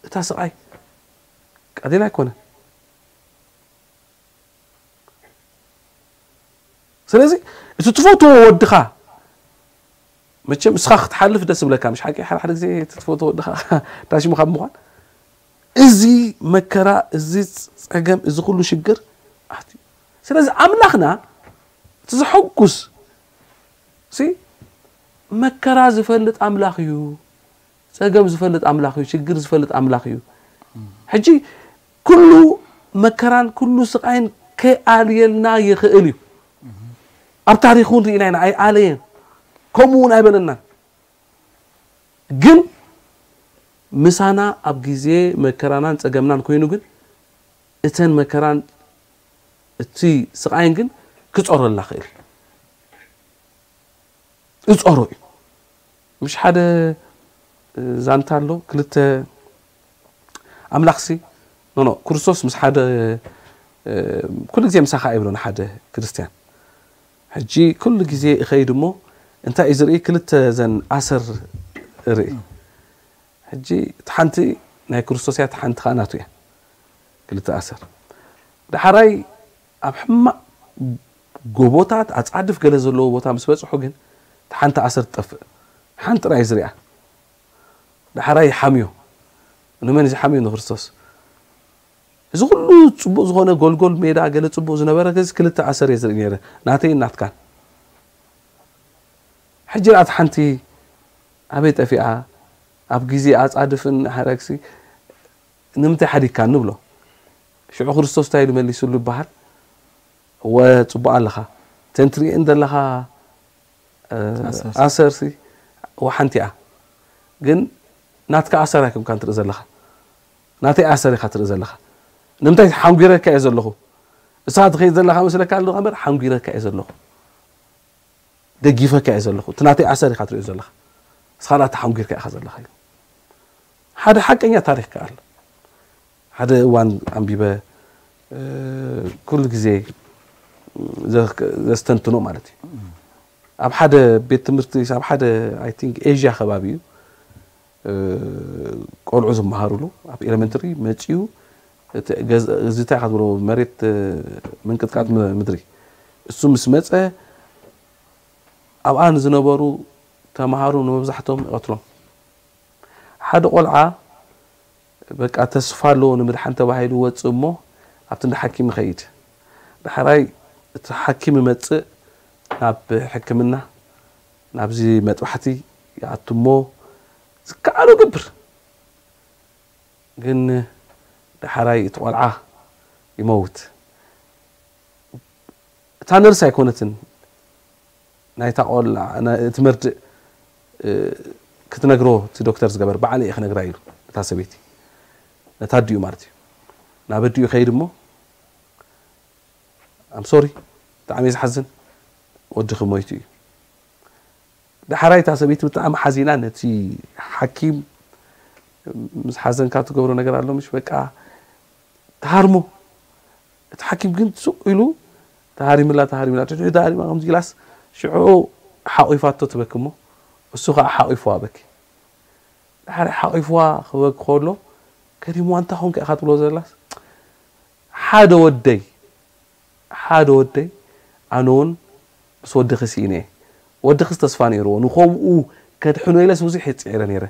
እታ ስቓይ ቀሊል ኣይኮነን። ስለዚ እቲ ትፈትዎ ወድኻ መቸም እስኻ ክትሓልፍ ደስ ይብለካ፣ ምሽ ሓቂ? ሓደ ሓደ ግዜ እቲ ትፈትዎ ወድኻ ዳሽሙ ካብ ምዃን፣ እዚ መከራ፣ እዚ ጸገም፣ እዚ ኩሉ ሽግር ኣትዩ። ስለዚ ኣምላኽና እቲ ዘሐጉስ ሲ መከራ ዝፈልጥ ኣምላኽ እዩ። ጸገም ዝፈልጥ ኣምላኽ እዩ። ሽግር ዝፈልጥ ኣምላኽ እዩ። ሕጂ ኩሉ መከራን ኩሉ ስቓይን ከይኣልየልና ይኽእል እዩ። ኣብ ታሪኽ እውን ርኢና ኢና፣ ኣይኣለየን። ከምኡ እውን ኣይበለናን። ግን ምሳና ኣብ ግዜ መከራናን ጸገምናን ኮይኑ ግን እተን መከራን እቲ ስቓይን ግን ክጸረልና ክእል። እጸሮ እዩ። ምሽ ሓደ ዛንታ ኣሎ፣ ክልተ ኣምላኽሲ፣ ኖ፣ ኖ፣ ክርስቶስ ምስ ሓደ፣ እ፣ ኩሉ ግዜ ምሳኻ ኣይብሎን ሓደ ክርስትያን። ሕጂ ኩሉ ግዜ እኸይድ እሞ እንታይ እዩ ዝርኢ? ክልተ ዘን ኣሰር እርኢ። ሕጂ እቲ ሓንቲ ናይ ክርስቶስ እያ፣ እቲ ሓንቲ ኸዓ ናቱ እያ። ክልተ ኣሰር። ዳሕራይ ኣብ ሕማቕ ጎቦታት ኣጻድፍ ገለ ዘለዎ ቦታ ምስ በጽሑ ግን እቲ ሓንቲ ኣሰር ትጠፍእ። ሓንቲ ጥራይ ዝሪኣ። ዳሕራይ ይሓምዮ። ንመን እዩ ዝሓምዮ? ንክርስቶስ። እዚ ኩሉ ጽቡቕ ዝኾነ ጎልጎል ሜዳ ገለ ጽቡቕ ዝነበረ ገዝ ክልተ ኣሰር እየ ዝርኢ ነይረ። ናተይን ናትካን። ሕጂ ርኣት ሓንቲ ኣበይ ጠፊኣ? ኣብ ግዜ ኣጻድፍን ሓረግሲ ንምንታይ ሓዲግካ ንብሎ። ሽዑ ክርስቶስ እንታይ ኢሉ መሊሱሉ ይበሃል? እወ ጽቡቕ ኣለኻ። እተን ትርእየን ዘለኻ፣ እ፣ ኣሰርሲ። ኣሰርሲ እወ ሓንቲ እያ። ግን ናትካ ኣሰር ኣይኮንካን ትርኢ ዘለኻ። ናተይ ኣሰር ኢኻ ትርኢ ዘለኻ። ንምንታይ ሓንጒረካ እየ ዘለኹ። እሳ ትኸይድ ዘለኻ መስለካ ኣለኻ እምበር ሓንጒረካ እየ ዘለኹ። ደጊፈካ እየ ዘለኹ። እቲ ናተይ ኣሰር ኢኻ ትሪኦ ዘለኻ። ንስኻ ደኣ ተሓንጒርካ ኢኻ ዘለኻ ኢሉ። ሓደ ሓቀኛ ታሪኽ ከኣ ኣሎ። ሓደ እዋን ኣንቢበ፣ እ፣ ኩሉ ግዜ ዘ-፣ ዘስተንትኖ ማለት እዩ። ኣብ ሓደ ቤት ትምህርቲ፣ ኣብ ሓደ፣ I think፣ ኤዥያ ከባቢ እዩ። እ፣ ቆልዑ ዝመሃሩሉ ኣብ ኤሌመንተሪ መጺኡ፣ እቲ ገዝ-፣ እዚ እንታይ ኢኻ ትብሎ፣ መሬት፣ እ፣ ምንቅጥቃጥ ም-፣ ምድሪ። እሱ ምስ መጸ፣ ኣብኣ ንዝነበሩ ተማሃሮ ንመብዛሕትኦም ይቐትሎም። ሓደ ቆልዓ በቃ ተስፋ ኣለዎ ንምድሓን ተባሂሉ ይወጽእ እሞ ኣብቲ እንዳ ሓኪም ይኸይድ። ዳሕራይ እቲ ሓኪም ይመጽእ፣ ናብ ሕክምና፣ ናብዚ መጥባሕቲ ይኣቱ እሞ ዝከኣሎ ይገብር። ግን ዳሕራይ እቲ ቆልዓ ይመውት። እታ ነርስ ኣይኮነትን ናይታ ቆልዓ፣ ናይ፣ እቲ መርድእ፣ እ፣ ክትነግሮ እቲ ዶክተር ዝገበር፣ ባዕለይ እየ ክነግራ ኢሉ ነታ ሰበይቲ፣ ነታ ኣዲኡ ማለት እዩ። ናብ ኣዲኡ ይኸይድ እሞ፣ I'm sorry፣ ብጣዕሚ እዩ ዝሓዝን፣ ወድኺ ሞይቱ እዩ። ዳሕራይ እታ ሰበይቲ ብጣዕሚ ሓዚና ነቲ ሓኪም፣ ምስ ሓዘንካ ትገብሮ ነገር ኣሎ ምሽ፣ በቃ ትሃርሞ። እቲ ሓኪም ግን ሱቕ ኢሉ ተሃሪምላ፣ ተሃሪምላ፣ ድሕሪኡ ተሃሪማ ከምዚ ኢላስ ሽዑ ሓቒፋቶ ትበኪ እሞ እሱ ኸዓ ሓቒፍዋ በኪ። ድሓር ሓቒፍዋ ክበኪ ከሎ ገሪምዋ፣ "እንታይ ኾንካ ኢኻ ትብሎ ዘላስ?" ሓደ ወደይ፣ ሓደ ወደይ፣ ኣነ እውን ምስ ወድኺ ስኢነ እየ። ወድኺስ ተስፋ ነይርዎ፣ ንኸምኡ ከድሕኖ ኢለስ ብዙሕ እየ ጽዒረ ነይረ።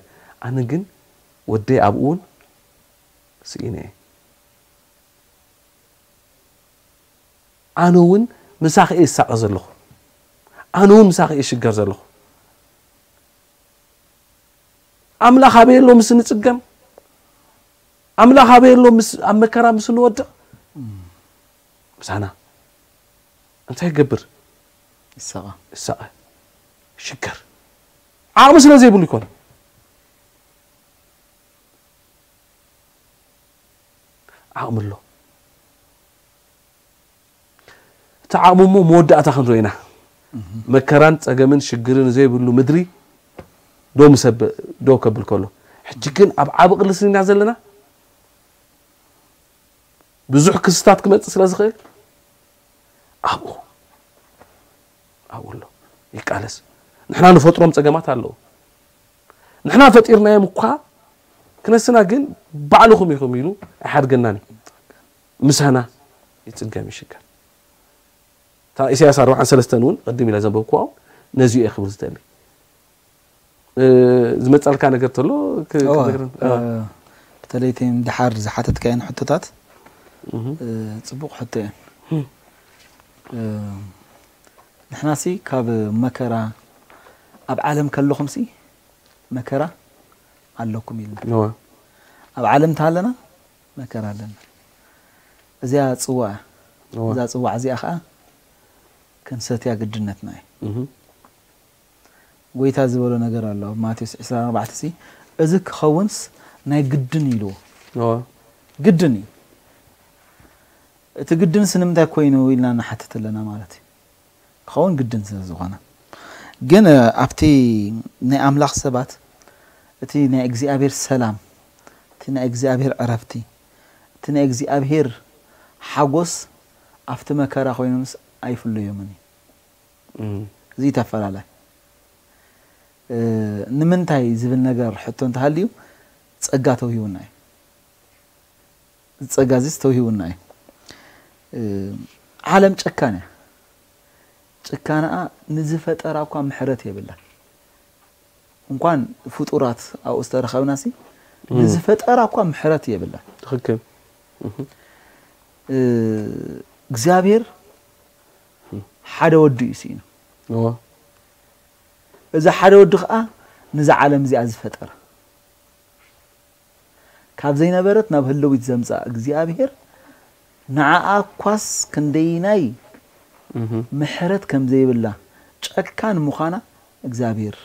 ኣነ ግን ወደይ ኣብኡ እውን ስኢነ እየ። ኣነ እውን ምሳኺ እየ ዝሳቐ ዘለኹ። ኣነ እውን ምሳኺ እየ ዝሽገር ዘለኹ። ኣምላኽ ኣበይ ኣሎ ምስ እንጽገም? ኣምላኽ ኣበይ ኣሎ ምስ፣ ኣብ መከራ ምስ እንወድቕ? ምሳና። እንታይ ይገብር? ይሳቐ። ይሳቐ። ይሽገር። ዓቕሚ ስለ ዘይብሉ ይኮን። ዓቕሚ ኣሎ። እቲ ዓቕሚ እሞ መወዳእታ ክንሪኦ ኢና። መከራን ጸገምን ሽግርን ዘይብሉ ምድሪ ደው ምስ ኣበ-፣ ደው ከብል ከሎ። ሕጂ ግን ኣብ ዓቢ ቅልስና ኢና ዘለና። ብዙሕ ክስታት ክመጽእ ስለ ዝኽእል ኣብኡ፣ ኣብኡ ኣሎ። ይቃለስ። ንሕና ንፈጥሮም ጸገማት ኣለዉ። ንሕና ፈጢርናዮም እኳ ክነስና ግን ባዕልኹም ኢኹም ኢሉ ኣይሓድገናን እዩ። ምሳና ይጽገም ይሽገር። እታ ኢሳያስ ኣርብዓን ሰለስተን እውን ቅድም ኢለ ዘንበብኩዋ እውን ነዚኡ እየ ክብል ዝደሊ። እ፣ ዝመጻልካ ነገር ተሎ ክ-፣ እዋ፣ ክትነግረን? እ፣ እዋ። በተለይ እተን ድሓር ዝሓተትካየን ሕቶታት፣ እህ። እ፣ ጽቡቕ ሕቶ እየን። እህ። እ፣ ንሕናሲ ካብ መከራ ኣብ ዓለም ከለኹምሲ መከራ ኣለኩም ኢልና። እዋ። ኣብ ዓለም እንተሃለና መከራ ኣለና። እዚኣ ጽዋ እያ። እዋ። እዛ ጽዋዕ እዚኣ ኸኣ ክንሰትያ ግድነትና እዩ። እህ። ጎይታ ዝበሎ ነገር ኣሎ። ኣብ ማቴዎስ ዕስራን ኣርባዕተን ሲ፣ "እዚ ክኸውንስ ናይ ግድን" ኢልዎ። እዋ። ግድን እዩ። እቲ ግድንስ ንምንታይ ኮይኑ ኢልና ንሓትት ኣለና ማለት እዩ። ክኸውን ግድን ስለ ዝኾነ። ግን፣ እ፣ ኣብቲ ናይ ኣምላኽ ሰባት፣ እቲ ናይ እግዚኣብሔር ሰላም፣ እቲ ናይ እግዚኣብሔር ዕረፍቲ፣ እቲ ናይ እግዚኣብሔር ሓጎስ ኣብቲ መከራ ኮይኖምስ ኣይፍለዮምን እዩ። እዚ ተፈላለ ንምንታይ ዝብል ነገር ሕቶ እንተሃልዩ ጸጋ ተውሂቡና እዩ። ጸጋ ዚስ ተውሂቡና እዩ። ዓለም ጨካን እያ። ጭካናኣ ንዝፈጠራ እኳ ምሕረት የብላ። እንኳን ፍጡራት ኣብኡ ዝተረኸብናሲ ንዝፈጠራ እኳ ምሕረት የብላ። ትኽክል። እግዚኣብሔር ሓደ ወዲ እዩ ስኢኑ። እዚ ሓደ ወዲ ከዓ ነዛ ዓለም እዚኣ ዝፈጠረ ካብ ዘይነበረት ናብ ህልዊት ዘምፅኣ እግዚኣብሔር ንዓኣ እኳስ ክንደይናይ ምሕረት ከም ዘይብላ ጨካን ምዃና እግዚኣብሔር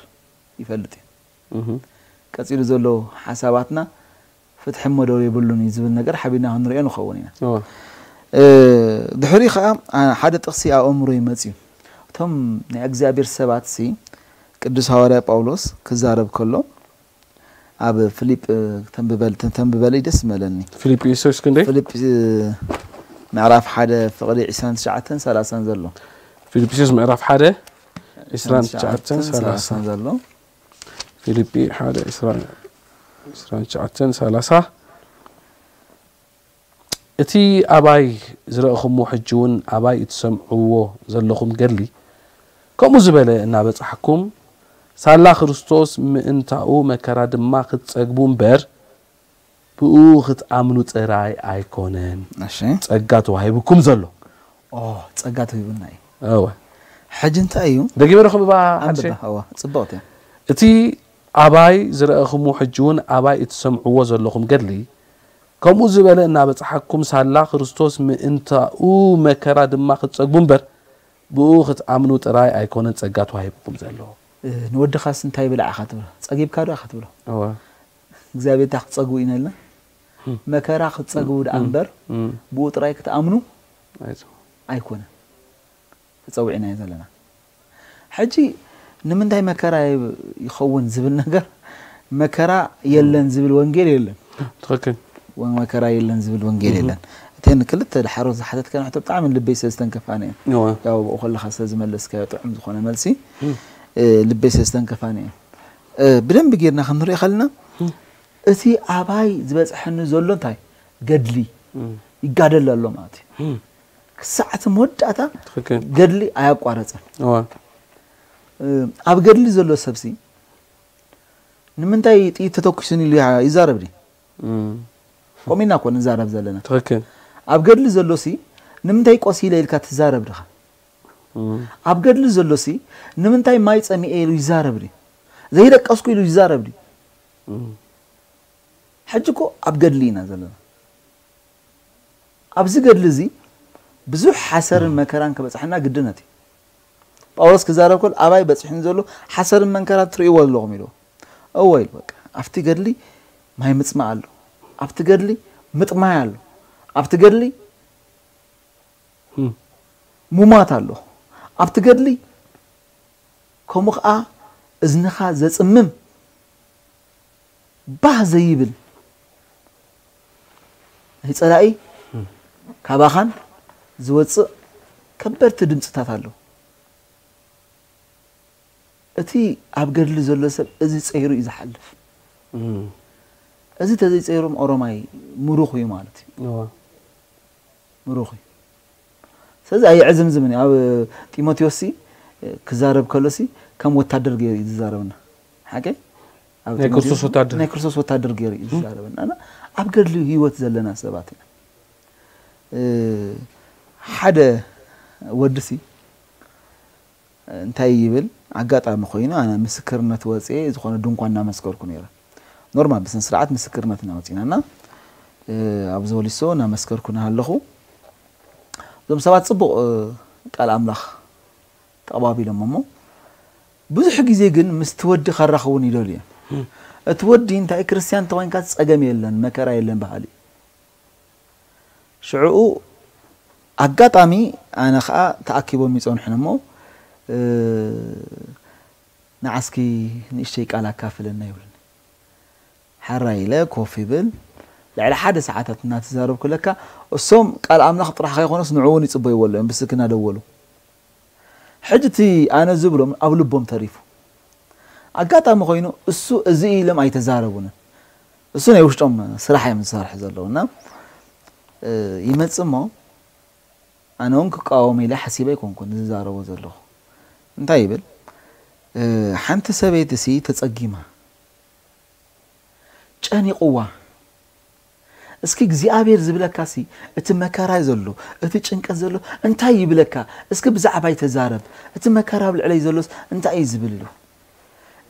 ይፈልጥ እዩ። ቀፂሉ ዘሎ ሓሳባትና ፍትሒ እሞ ዶ የብሉን እዩ ዝብል ነገር ሓቢርና ክንሪኦ ንኸውን ኢና። ድሕሪ ከዓ ሓደ ጥቕሲ ኣብ ኣእምሮ ይመፅዩ። እቶም ናይ እግዚኣብሔር ሰባት ሲ ቅዱስ ሃዋርያ ጳውሎስ ክዛረብ ከሎ ኣብ ፊልጵ ተንብበል ተንብበለይ ደስ መለኒ። ፊልጵስዩስ ክንደይ? ፊልጵ ምዕራፍ ሓደ ፍቕዲ ዕስራን ትሽዓተን ሰላሳን ዘሎ ፊልጵስዩስ ምዕራፍ ሓደ ዕስራን ትሽዓተን ሰላሳን ዘሎ ፊልጲ ሓደ ዕስራን ትሽዓተን ሰላሳ እቲ ኣባይ ዝረእኹሞ ሕጂ እውን ኣባይ እትሰምዕዎ ዘለኹም ገድሊ ከምኡ ዝበለ እናበጻሕኩም ሳላ ክርስቶስ ምእንታኡ መከራ ድማ ክትጸግቡ እምበር ብኡ ክትኣምኑ ጥራይ ኣይኮነን እሺ ጸጋ ተዋሂቡኩም ዘሎ። ኦ ጸጋ ተዋሂቡና እዩ። እወ ሕጂ እንታይ እዩ? ደጊመ ረኽብባ ሓድሽ ኣንብባ እዋ ጽብቕቲ እያ። እቲ ኣባይ ዝረእኹሞ ሕጂ እውን ኣባይ እትሰምዕዎ ዘለኹም ገድሊ ከምኡ ዝበለ እናበጽሓኩም ሳላ ክርስቶስ ምእንታኡ መከራ ድማ ክትጸግቡ እምበር ብኡ ክትኣምኑ ጥራይ ኣይኮነን ጸጋ ተዋሂብኩም ዘሎ። ንወድኻስ እንታይ ብላዕ ኢኻ ትብሎ? ጸጊብካ ዶ ኢኻ ትብሎ? እግዚኣብሔር እንታይ ክትጸግቡ ኢና ኢልና? መከራ ክትጸግቡ ደኣ እምበር ብኡ ጥራይ ክትኣምኑ ኣይኮነን ተጸዊዕናዮ ዘለና። ሕጂ ንምንታይ መከራ ይኸውን ዝብል ነገር መከራ የለን ዝብል ወንጌል የለን። ትኽክል። መከራ የለን ዝብል ወንጌል የለን። እተን ክልተ ድሓሮ ዝሓተትከን ሕቶ ብጣዕሚ ልበይ ስለ ዝተንከፋኒ እየን። እወ። ያው ብኡ ከለኻ ስለ ዝመለስካዮ ጥዑም ዝኾነ መልሲ እ፣ ልበይ ስለ ዝተንከፋኒ እየን። እ፣ ብደንቢ ጌርና ክንሪኦ ከለና እቲ ኣባይ ዝበፅሐኒ ዘሎ እንታይ ገድሊ ይጋደል ኣሎ ማለት እዩ። ክሳዕ እቲ መወዳእታ ትኽክል። ገድሊ ኣያቋረፀን። እወ። እ፣ ኣብ ገድሊ ዘሎ ሰብሲ ንምንታይ ጥይት ተተኩሱን ኢሉ ይዛረብ ድዩ? እም፣ ከምኡ ኢና እኮ ንዛረብ ዘለና። ትኽክል። ኣብ ገድሊ ዘሎሲ ንምንታይ ቆሲለ ኢልካ ትዛረብ ድኻ? እም፣ ኣብ ገድሊ ዘሎሲ ንምንታይ ማይ ጸሚኤ ኢሉ ይዛረብ ድዩ? ዘይደቀስኩ ኢሉ ይዛረብ ድዩ? እም፣ ሕጂ እኮ ኣብ ገድሊ ኢና ዘለና። ኣብዚ ገድሊ እዚ ብዙሕ ሓሰርን መከራን ክበጽሐና ግድነት እዩ። ጳውሎስ ክዛረብ ከሎ ኣባይ በጺሑኒ ዘሎ ሓሰርን መንከራን ትርእይዎ ኣለኹም ኢልዎ። እወ ኢሉ በቃ ኣብቲ ገድሊ ማይ ምጽማእ ኣሎ፣ ኣብቲ ገድሊ ምጥማይ ኣሎ፣ ኣብቲ ገድሊ እም፣ ሙማት ኣሎ፣ ኣብቲ ገድሊ ከምኡ ኸዓ እዝንኻ ዘጽምም ባህ ዘይብል ናይ ጸላኢ ካባኻን ዝወጽእ ከበድቲ ድምፅታት ኣለዉ። እቲ ኣብ ገድሊ ዘሎ ሰብ እዚ ጸይሩ እዩ ዝሓልፍ። እም፣ እዚ ተዘይጸይሮም ኦሮማይ ምሩኽ እዩ ማለት እዩ። እወ። ምሩኽ እዩ። ስለዚ ኣየዕዝምዝምን እዩ። ኣብ ጢሞቴዎስ ሲ ክዛረብ ከሎ ሲ ከም ወታደር ገይሩ እዩ ዝዛረብና። ሓቀይ? ኣብ ናይ ክርስቶስ ጢሞቴዎስ ወታደር። ናይ ክርስቶስ ወታደር ገይሩ እዩ ዝዛረብና። እና ኣብ ገድሊ ህይወት ዘለና ሰባት ኢና። እ፣ ሓደ ወዲ ሲ እንታይ ይብል ኣጋጣሚ ኮይኑ ኣነ ምስክርነት ወፅኤ ዝኾነ ድንኳን እናመስከርኩ ነይረ። ኖርማል ብስነ ስርዓት ምስክርነት እናወፂና እና እ፣ ኣብዚ ወሊሶ እናመስከርኩ እናሃለኹ እዞም ሰባት ፅቡቕ እ፣ ቃል ኣምላኽ ተቐባቢሎም እሞ ብዙሕ ግዜ ግን ምስቲ ወዲ ከራኽቡን ይደልዩ እዮም። እቲ ወዲ እንታይ ክርስቲያን ተኾይንካ ፀገም የለን መከራ የለን በሃሊ እዩ። ሽዕኡ ኣጋጣሚ ኣነ ከዓ ተኣኪቦም ይፀንሑን እሞ እ፣ ንዓስኪ ንእሽተይ ቃል ኣካፍለና ይብሉኒ። ሓራይ ኢለ ኮፍ ይብል። ልዕሊ ሓደ ሰዓታት እናተዛረብኩ ለካ እሶም ቃል ኣምላኽ ጥራሕ ከይኮነስ ንዑ እውን ይፅበይዎ ኣለዉ እዮም ብስልኪ እናደወሉ። ሕጂ እቲ ኣነ ዝብሎም ኣብ ልቦም ተሪፉ። ኣጋጣሚ ኮይኑ እሱ እዚ ኢሎም ኣይተዛረቡንን። እሱ ናይ ውሽጦም ስራሕ እዮም ዝሰርሑ ዘለዉ እና ይመጽእ እሞ ኣነ እውን ክቃወም ኢለ ሓሲበ ኣይኮንኩን ዝዛረቦ ዘለኹ። እንታይ ይብል? ሓንቲ ሰበይቲ ሲ ተጸጊማ ጨኒቕዋ። እስኪ እግዚኣብሔር ዝብለካ ሲ እቲ መከራ ዘሎ እቲ ጭንቀት ዘሎ እንታይ ይብለካ? እስኪ ብዛዕባይ ተዛረብ። እቲ መከራ ኣብ ልዕለይ ዘሎስ እንታይ እዩ ዝብል ኢሉ።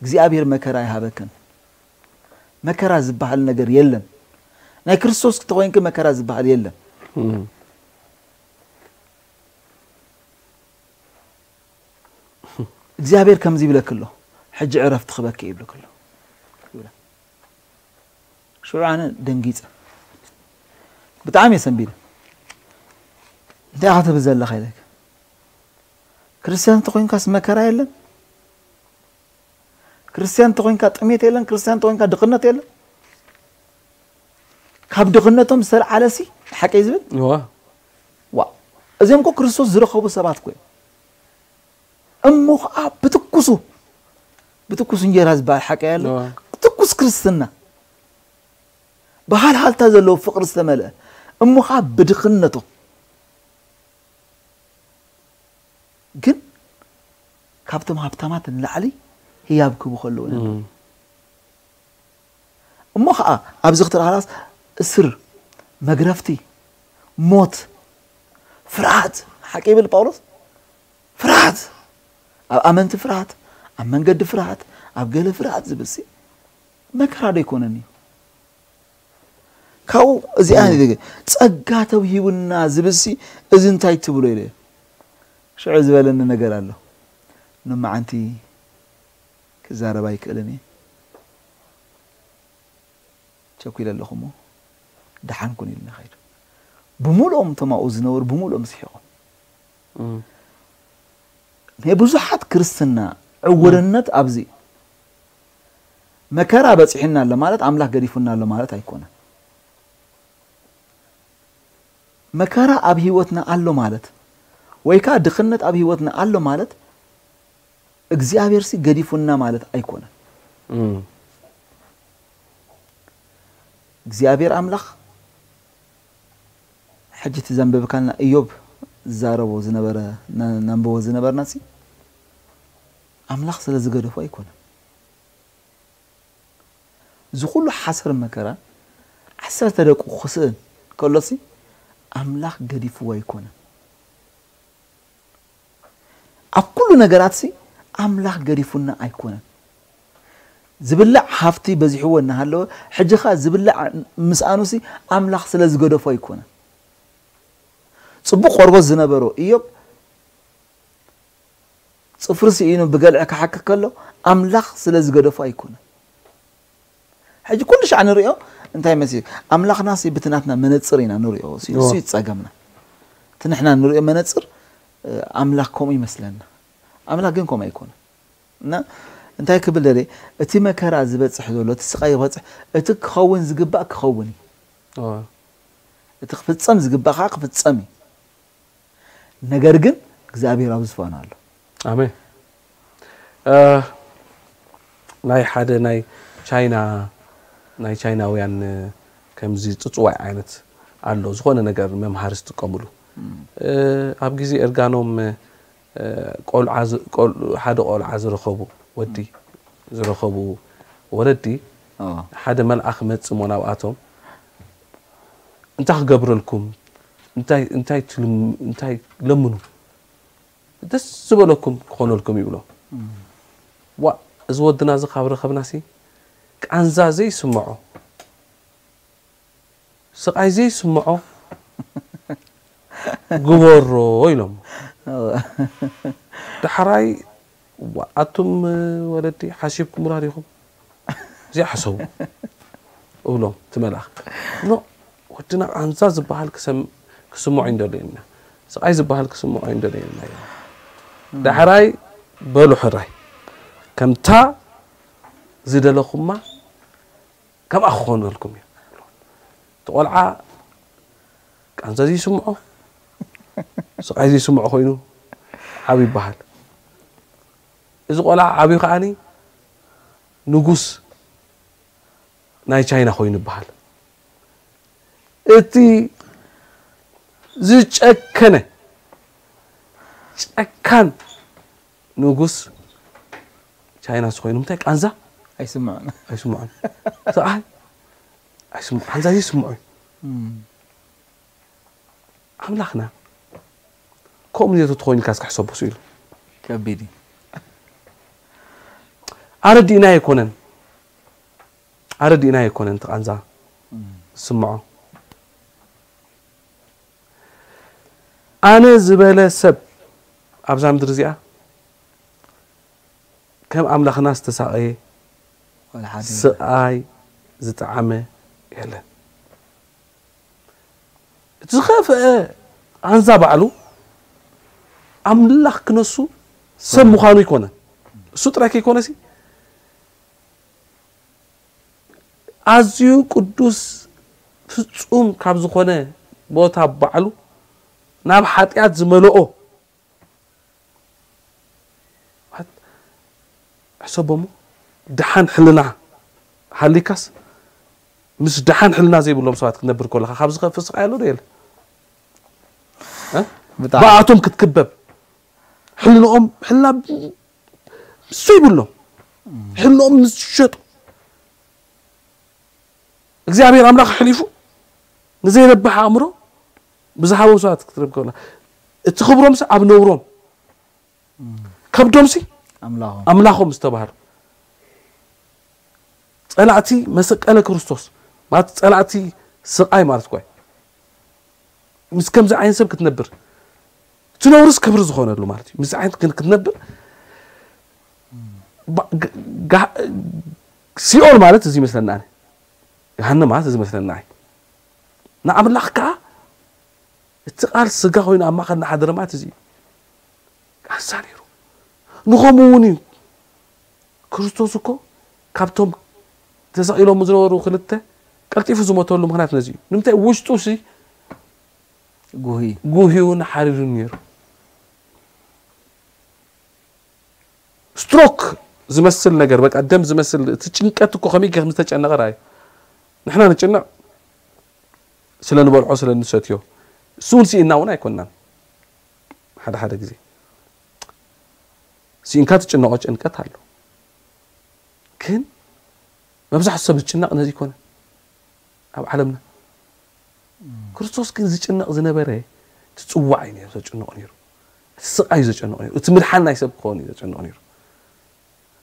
እግዚኣብሔር መከራ ይሃበክን። መከራ ዝበሃል ነገር የለን። ናይ ክርስቶስ ተኾይንኪ መከራ ዝበሃል የለን። እግዚኣብሔር ከምዚ ይብለኪ ኣሎ፣ ሕጂ ዕረፍቲ ክበኪ ይብለኪ ኣሎ ይብላ። ሽዑ ኣነ ደንጊጸ፣ ብጣዕሚ እየ ሰንቢደ። እንታይ ኢኻ ትብል ዘለኻ ኢለኪ። ክርስትያን እንተኾይንካስ መከራ የለን። ክርስትያን እንተኾይንካ ጥሜት የለን። ክርስትያን እንተኾይንካ ድኽነት የለን። ካብ ድኽነቶም ዝተልዓለ ሲ ሓቀይ ዝብል እዋ ዋ እዚኦም እኮ ክርስቶስ ዝረኸቡ ሰባት እኮ እዮም። እሞ ከዓ ብትኩሱ ብትኩስ እንጀራ ዝበሃል ሓቀይ ኣሎ። እዋ ትኩስ ክርስትና ብሃልሃልታ ዘለዎ ፍቕሪ ዝተመልአ እሞ ከዓ ብድኽነቶም ግን ካብቶም ሃብታማት ንላዕሊ ህያብ ክቡ ከለዉ ነበር። እም። እሞ ኸዓ ኣብዚ ክትረሃላስ እስር፣ መግረፍቲ፣ ሞት፣ ፍርሃት፣ ሓቂ ይብል ጳውሎስ። ፍርሃት፣ ኣብ ኣመንቲ ፍርሃት፣ ኣብ መንገዲ ፍርሃት፣ ኣብ ገለ ፍርሃት ዝብል ሲ መከራ ዶ ኣይኮነን እዩ? ካብኡ እዚኣ እም። ንደገ ጸጋ ተውሂቡና ዝብል ሲ እዚ እንታይ ትብሎ ኢለ ሽዑ ዝበለኒ ነገር ኣሎ። ንመዓንቲ ክዛረብ ኣይክእልን እየ። ቸኩለ ኣለኹ እሞ ደሓን ኩን ኢልና ኸይዱ። ብምልኦም እቶም ኣብኡ ዝነበሩ ብምልኦም ስሒቖም። እም። ናይ ብዙሓት ክርስትና ዕውርነት ኣብዚ እዩ። መከራ በጺሑና ኣሎ ማለት ኣምላኽ ገዲፉና ኣሎ ማለት ኣይኮነን። መከራ ኣብ ህይወትና ኣሎ ማለት ወይ ከዓ ድኽነት ኣብ ህይወትና ኣሎ ማለት እግዚኣብሔር ሲ ገዲፉና ማለት ኣይኮነን። እም። እግዚኣብሔር ኣምላኽ ሕጂ እቲ ዘንበብካልና እዮብ ዝዛረቦ ዝነበረ ነ- ነንብቦ ዝነበርና ሲ ኣምላኽ ስለ ዝገደፎ ኣይኮነን። እዚ ኩሉ ሓሰር መከራ ዓሰርተ ደቁ ክስእን ከሎሲ ኣምላኽ ገዲፍዎ ኣይኮነን። ኣብ ኩሉ ነገራትሲ ኣምላኽ ገዲፉና ኣይኮነን። ዝብላዕ ሃፍቲ በዚሕዎ እናሃለወ ሕጂ ኸኣ ዝብላዕ ምስኣኑሲ ኣምላኽ ስለ ዝገደፎ ኣይኮነን። ጽቡቕ ቆርበት ዝነበሮ ኢዮብ ጽፍሪ ስኢኑ ብገልዒ ክሓክክ ከሎ ኣምላኽ ስለ ዝገደፎ ኣይኮነን። ሕጂ ኩሉ ሻዕ ንሪኦ እንታይ መሲ ኣምላኽና ሲ ብቲ ናትና መነጽር ኢና ንሪኦ ሲ እሱ እዩ ጸገምና። እቲ ንሕና ንሪኦ መነጽር ኣምላኽ ከምኡ ይመስለና። ኣምላኽ ግን ከምኡ ኣይኮነን። እና እንታይ ክብል ደለ እቲ መከራ ዝበጽሕ ዘሎ እቲ ስቃይ ዝበጽሕ እቲ ክኸውን ዝግባእ ክኸውን እዩ። እቲ ክፍጸም ዝግባእ ከዓ ክፍጸም እዩ። ነገር ግን እግዚኣብሔር ኣብ ዝፋኑ ኣሎ። ኣሜን። እ፣ ናይ ሓደ ናይ ቻይና ናይ ቻይናውያን ከምዚ ጽጽዋይ ዓይነት ኣሎ ዝኾነ ነገር መምሃሪ ዝጥቀምሉ እ፣ ኣብ ግዜ እርጋኖም እ፣ ቆልዓ ዝ- ቆል- ሓደ ቆልዓ ዝረኸቡ ወዲ ዝረኸቡ ወለዲ ሓደ መልኣኽ መጽእ እሞ ናብኣቶም እንታይ ክገብረልኩም እንታይ እንታይ ትልም እንታይ ለምኑ ደስ ዝበለኩም ክኾነልኩም ይብሎ ዋ እዚ ወድና እዚ ካብ ረኸብናሲ ቃንዛ ዘይስምዖ ስቓይ ዘይስምዖ ግበሮ ኢሎም ዳሕራይ ኣቱም ወለዲ ሓሲብኩምላ ዲኹም ዘይሓሰቡ እብሎም እቲ መልኣኽ ኖ ወድና ቃንዛ ዝበሃል ክሰም- ክስምዖ ይንደልየና ስቓይ ዝበሃል ክስምዖ ይንደልየና እዮም ዳሕራይ በሉ ሕራይ ከምታ ዝደለኹማ ከምኣ ክኾነልኩም እዩ እቲ ቆልዓ ቃንዛ ዘይስምዖ ስቓይ ዘይስምዖ ኮይኑ ዓብ ይበሃል እዚ ቆልዓ ዓብዩ ከዓኒ ንጉስ ናይ ቻይና ኮይኑ ይበሃል። እቲ ዝጨከነ ጨካን ንጉስ ቻይና ስ ኮይኑ ምታይ ቃንዛ ኣይስምዑን ኣይስምዖን ሰብኣይ ኣይስምዑ ቃንዛ ይስምዑ ኣምላኽና ከምኡ ነቱ ትኾይኑ ኢልካ እስካ ሕሰቦ ስኢሉ ከቢድ እዩ። ኣረዲእና ኣይኮነን ኣረዲእና ኣይኮነን እቲ ቃንዛ ዝስምዖ ኣነ ዝበለ ሰብ ኣብዛ ምድሪ እዚኣ ከም ኣምላኽና ዝተሳቐየ ወላ ሓደ ስቓይ ዝጠዓመ የለን። እቲ ዝኸፍአ ቃንዛ ባዕሉ ኣምላኽ ክነሱ ሰብ ምዃኑ ኣይኮነን። እሱ ጥራይ ከይኮነሲ ኣዝዩ ቅዱስ ፍጹም ካብ ዝኾነ ቦታ ባዕሉ ናብ ሓጢኣት ዝመልኦ ሕሰቦ እሞ ደሓን ሕልና ሃሊካስ ምስ ደሓን ሕልና ዘይብሎም ሰባት ክትነብር ከለካ ካብ ዝኸፍእ ስቃይ ኣሎ ዶ የለ ብጣዕሚ ብኣቶም ክትክበብ ሕልንኦም ሕልና ዘይብሎም ሕልንኦም ምስ ዝሸጡ እግዚኣብሔር ኣምላኽ ኣሕሊፉ ንዘይረብሕ ኣእምሮ ብዝሃቦም ሰባት ክትረብ ከላ እቲ ክብሮምሲ ኣብ ነውሮም ከብዶምሲ ኣምላኾም ኣምላኾም ዝተባህሉ ጸላእቲ መሰቀለ ክርስቶስ ማለት ጸላእቲ ስቃይ ማለት እኮ እዩ። ምስ ከምዚ ዓይነት ሰብ ክትነብር እቲ ነውርስ ክብሪ ዝኾነሉ ማለት እዩ። ምስ ዓይነት ግን ክትነብር ባ- ጋ- ጋ- ሲኦል ማለት እዚ ይመስለና ኣነ። ገሃነም ማለት እዚ ይመስለና ኣይ ንኣምላኽ ከዓ እቲ ቃል ስጋ ኮይኑ ኣብ ማእኸል ናሓደረ ማለት እዚ እዩ። ኣንሳ ነይሩ ንኸምኡ እውን እዩ። ክርስቶስ እኮ ካብቶም ተሰቒሎም ዝነበሩ ክልተ ቀልጢፉ ዝሞተሉ ምክንያት ነዚ እዩ። ንምንታይ ውሽጡ ሲ ጉሂ ጉህዩን ሓሪሩን ነይሩ። ስትሮክ ዝመስል ነገር በቃ ደም ዝመስል እቲ ጭንቀት እኮ ከመይ ከም ዝተጨነቐ ራእዩ። ንሕና ንጭነቕ ስለ ንበልዖ ስለ ንሰትዮ እሱ እውን ስኢና እውን ኣይኮናን። ሓደ ሓደ ግዜ ስኢንካ ትጭነቆ ጭንቀት ኣሎ። ግን መብዛሕትኡ ሰብ ዝጭነቕ ነዚ ይኮነ ኣብ ዓለምና። ክርስቶስ ግን ዝጭነቕ ዝነበረ እቲ ጽዋዕ እዩ ነይሩ ዘጨንቆ ነይሩ። እቲ ስቓይ እዩ ዘጨንቆ ነይሩ። እቲ ምድሓን ናይ ሰብ ክኸውን እዩ ዘጨንቆ ነይሩ።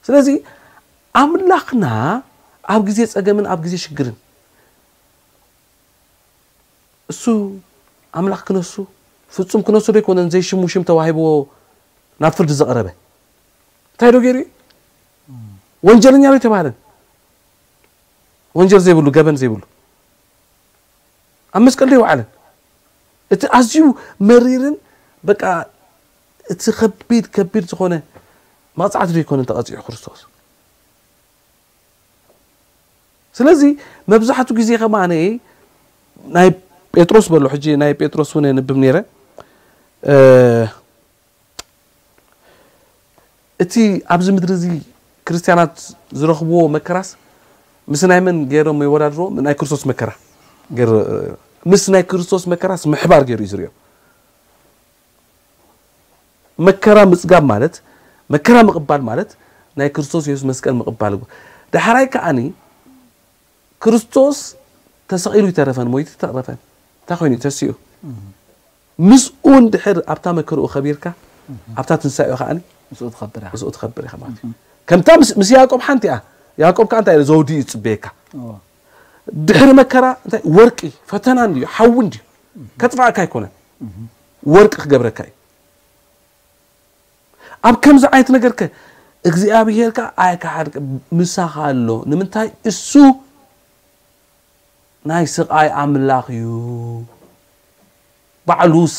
ስለዚ ኣምላኽና ኣብ ግዜ ጸገምን ኣብ ግዜ ሽግርን እሱ ኣምላኽ ክነሱ ፍጹም ክነሱ ዶ ኣይኮነን ዘይሽሙ ሽም ተዋሂብዎ ናብ ፍርዲ ዘቐረበ እንታይ ዶ ገይሩ እዩ? ወንጀለኛ ዶ ኣይተባህለን? ወንጀል ዘይብሉ ገበን ዘይብሉ ኣብ መስቀል ዶ ይወዓለን? እቲ ኣዝዩ መሪርን በቃ እቲ ከቢድ ከቢድ ዝኾነ መቕጻዕቲ ዶ ኣይኮነን ተቐጺዑ ክርስቶስ? ስለዚ መብዛሕትኡ ግዜ ከማነ ናይ ጴጥሮስ በሎ ሕጂ ናይ ጴጥሮስ እውን የንብብ ነይረ እቲ ኣብዚ ምድሪ እዚ ክርስትያናት ዝረኽብዎ መከራስ ምስ ናይ መን ገይሮም ይወዳድርዎ ናይ ክርስቶስ መከራ ገይሩ ምስ ናይ ክርስቶስ መከራስ ምሕባር ገይሩ እዩ ዝሪኦ መከራ ምፅጋብ ማለት መከራ ምቕባል ማለት ናይ ክርስቶስ የሱስ መስቀል ምቕባል እኮ ዳሕራይ ከዓኒ ክርስቶስ ተሰቒሉ ይተረፈን ሞይቱ ተረፈን እንታይ ኮይኑ ተሲኡ ምስኡ እንድሕር ኣብታ መከርኡ ከቢርካ ኣብታ ትንሳኤኡ ከዓኒ ምስኡ ትኸብር ኢኻ ምስኡ ትኸብር ኢኻ ማለት እዩ ከምታ ምስ- ምስ ያዕቆብ ሓንቲ እያ ያዕቆብ ከዓ እንታይ ኢሉ ዘውዲ እዩ ዝፅበየካ እዎ። ድሕሪ መከራ እንታይ ወርቂ ፈተና እንድዩ ሓዊ እንድዩ ከጥፋእካ ኣይኮነን ወርቂ ክገብረካ እዩ ኣብ ከምዚ ዓይነት ነገር ከ እግዚኣብሔር ከ ኣይከሓድከ ምሳኻ ኣሎ ንምንታይ እሱ ናይ ስቓይ ኣምላኽ እዩ ባዕሉስ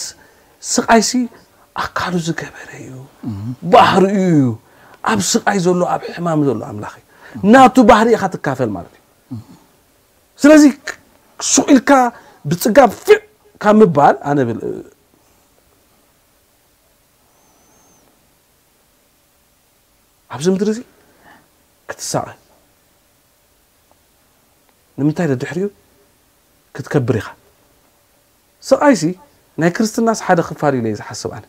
ስቓይሲ ኣካሉ ዝገበረ እዩ ባህሪኡ እዩ ኣብ ስቓይ ዘሎ ኣብ ሕማም ዘሎ ኣምላኽ እዩ ናቱ ባህሪ ኢኻ ትካፈል ማለት እዩ ስለዚ ሱቕ ኢልካ ብፅጋብ ፊዕ ካብ ምባል ኣነ ብል ኣብዚ ምድሪ እዚ ክትሳቐ ንምንታይ ደድሕሪኡ ክትከብር ኢኻ። ስቓይሲ ናይ ክርስትናስ ሓደ ክፋል ኢለ እየ ዝሓስብ ኣነ።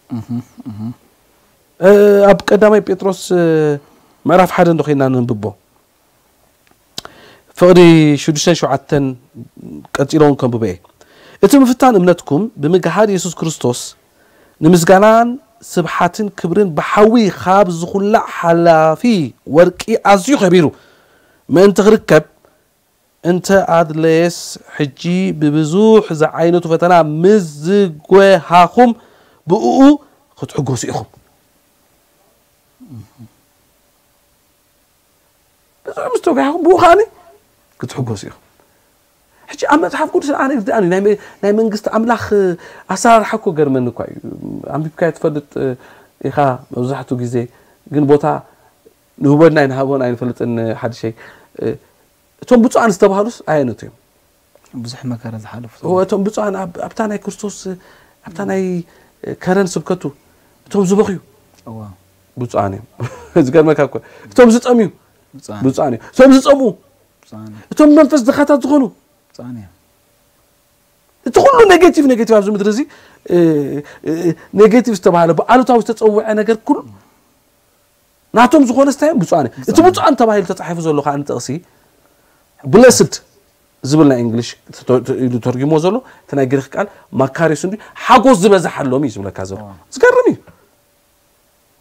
ኣብ ቀዳማይ ጴጥሮስ ምዕራፍ ሓደ እንዶ ኮይና ነንብቦ፣ ፍቕዲ ሽዱሽተን ሸውዓተን ቀጺለ እውን ከንብቦ እየ። እቲ ምፍታን እምነትኩም ብምግሃድ የሱስ ክርስቶስ ንምስጋናን ስብሓትን ክብርን ብሓዊ ካብ ዝኹላዕ ሓላፊ ወርቂ ኣዝዩ ከቢሩ ምእንቲ ክርከብ፣ እንተ ኣድለየስ ሕጂ ብብዙሕ ዝዓይነቱ ፈተና ምስ ዝጎሃኹም ብእኡ ክትሕጎሱ ኢኹም። ብዙሕ ምስ ተጓሂኹም ብኡ ከኣኒ ክትሕጎሱ ኢኹም። ሕጂ ኣብ መጽሓፍ ቅዱስ ኣነ ይርድኣኒ ናይ መ- ናይ መንግስቲ ኣምላኽ ኣሰራርሓ እኮ ገርመኒ እኳ እዩ። ኣንቢብካዮ ትፈልጥ ኢኻ መብዛሕትኡ ግዜ፣ ግን ቦታ ንህቦን ኣይንሃቦን ኣይንፈልጥን። ሓድሸይ እቶም ብፁዓን ዝተባህሉስ ኣየነቱ እዮም? ብዙሕ መከራ ዝሓለፉ እቶም ብፁዓን ኣብ- ኣብታ ናይ ክርስቶስ ኣብታ ናይ ከረን ስብከቱ እቶም ዝበኽዩ እዋ ብፁዓን እዮም። ዝገርመካ እኮ እቶም ዝጠምዩ ብፁዓን ብፁዓን እዮም። እቶም ዝፀምኡ ብፁዓን እዮም። እቶም መንፈስ ድኻታት ዝኾኑ ብፁዓን እዮም። እቲ ኩሉ ኔጌቲቭ ኔጌቲቭ ኣብዚ ምድሪ እዚ ኔጌቲቭ ዝተባሃለ ብኣሉታዊ ዝተፀውዐ ነገር ኩሉ ናቶም ዝኾነ ስታይ እዮም ብፁዓን እዮም። እቲ ብፁዓን ተባሂሉ ተፃሒፉ ዘሎ ከዓ ንጥቕሲ ብለስድ ዝብል ናይ እንግሊሽ ኢሉ ተርጉሞ ዘሎ እቲ ናይ ግሪክ ቃል ማካሪስ እንዲ ሓጎስ ዝበዝሓሎም እዩ ዝብለካ ዘሎ። ዝገርም እዩ።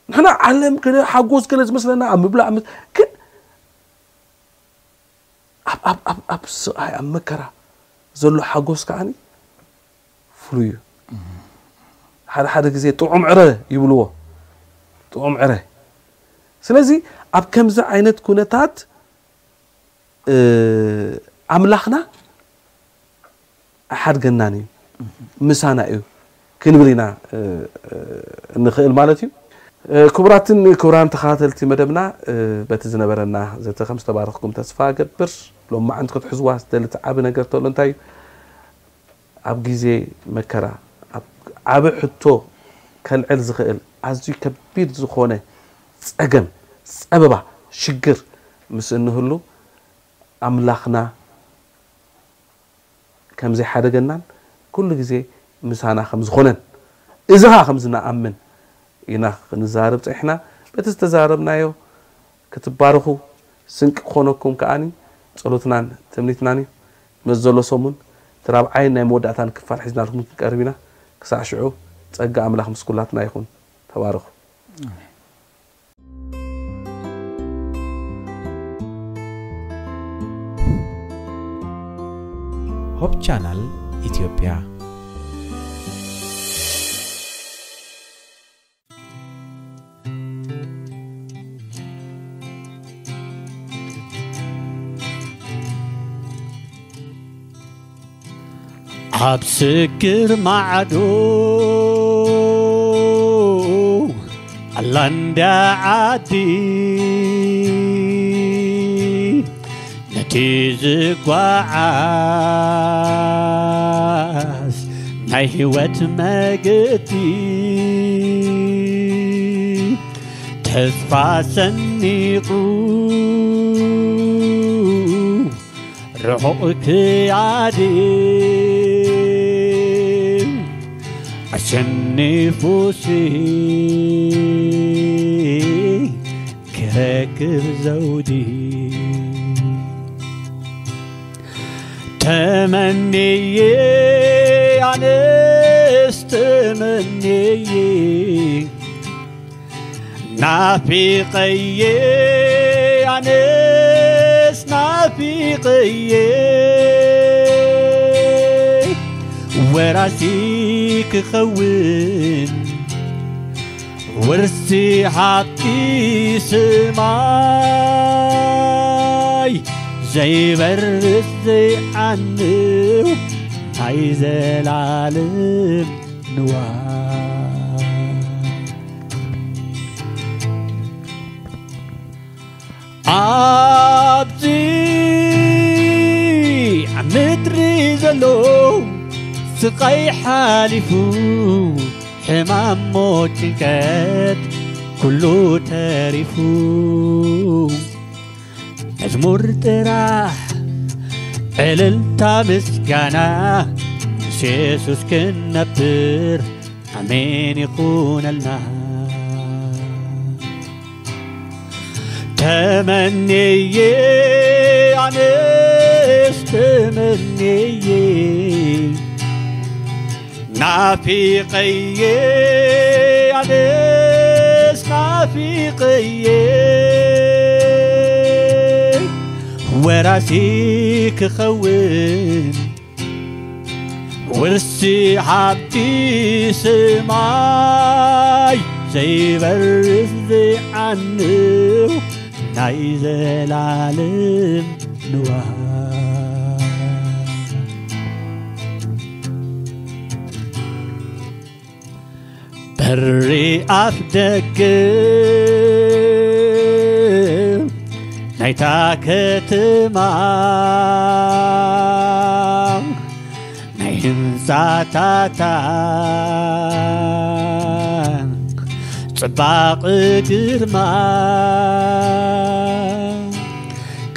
ንሕና ዓለም ገለ ሓጎስ ገለ ዝመስለና ኣብ ምብላዕ ምስ- ግን ኣብ ኣብ ኣብ ኣብ ስቓይ ኣብ መከራ ዘሎ ሓጎስ ከዓኒ ፍሉይ እዩ። ሓደ ሓደ ግዜ ጥዑም ዕረ ይብልዎ። ጥዑም ዕረ። ስለዚ ኣብ ከምዚ ዓይነት ኩነታት ኣምላኽና ኣይሓድገናን እዩ፣ ምሳና እዩ ክንብል ኢና እንኽእል ማለት እዩ። ክቡራትን ክቡራን ተኸታተልቲ መደብና፣ በቲ ዝነበረና ዘተ ከም ዝተባረኽኩም ተስፋ እገብር። ሎማዓንቲ ክትሕዝዋ ዝደሊ እቲ ዓቢ ነገር ተሎ እንታይ እዩ? ኣብ ግዜ መከራ ኣብ ዓቢ ሕቶ ከልዕል ዝኽእል ኣዝዩ ከቢድ ዝኾነ ጸገም፣ ጸበባ፣ ሽግር ምስ እንህሉ ኣምላኽና ከም ዘይሓደገናን ኩሉ ግዜ ምሳና ከም ዝኾነን እዚ ኸኣ ከም ዝንኣምን ኢና ክንዛረብ ጸኒሕና። በቲ ዝተዛረብናዮ ክትባረኹ ስንቂ ክኾነኩም ከኣኒ ጸሎትናን ትምኒትናን እዩ። መዚ ዘሎ ሰሙን እቲ ራብዓይን ናይ መወዳእታን ክፋል ሒዝናልኩም ክንቀርብ ኢና። ክሳዕ ሽዑ ጸጋ ኣምላኽ ምስ ኩላትና ይኹን። ተባረኹ። ሆፕ ቻናል ኢትዮጵያ። ኣብ ስግር ማዕዶ ኣላ እንዳ ዓዲ ነቲ ዝጓዓዝ ናይ ህይወት መገዲ ተስፋ ሰኒቑ ርሑቕ ክያዲ ኣሸኒፉሲ ክረክብ ዘውዲ ተመንየ ኣነስ ተመንየ ናፊቐየ ኣነስ ናፊቐየ ወራሲ ክኸውን ውርሲ ሃብቲ ሰማይ ዘይበርስ ዘይዓንው ናይ ዘላለም ንዋይ ኣብዚ ኣብ ምድሪ ዘሎ ስቓይ ሓሊፉ ሕማም ሞት ጭንቀት ኩሉ ተሪፉ። መዝሙር ጥራሕ፣ ዕልልታ ምስጋና፣ ምስ የሱስ ክንነብር፣ ኣሜን ይኹነልና። ተመንየ፣ ኣነስ ተመንየ፣ ናፊቐየ፣ ኣነስ ናፊቐየ፣ ወራሲ ክኸውን፣ ውርሲ ሃብቲ ሰማይ፣ ዘይበርስ ዘይዓንው ናይ ዘላለም ንዋይ። በሪ ኣፍ ደገ ናይታ ከተማ፣ ናይ ህንጻታታ ጽባቕ ግርማ፣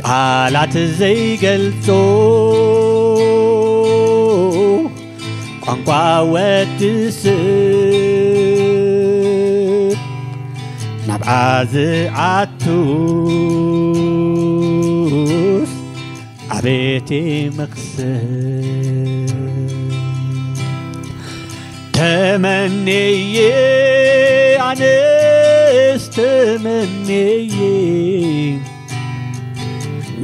ቃላት ዘይገልጾ ቋንቋ ወዲ ሰብ ናብኣ ዝኣቱስ ኣቤት መኽሰብ። ተመንየ፣ ኣነስ ተመንየ፣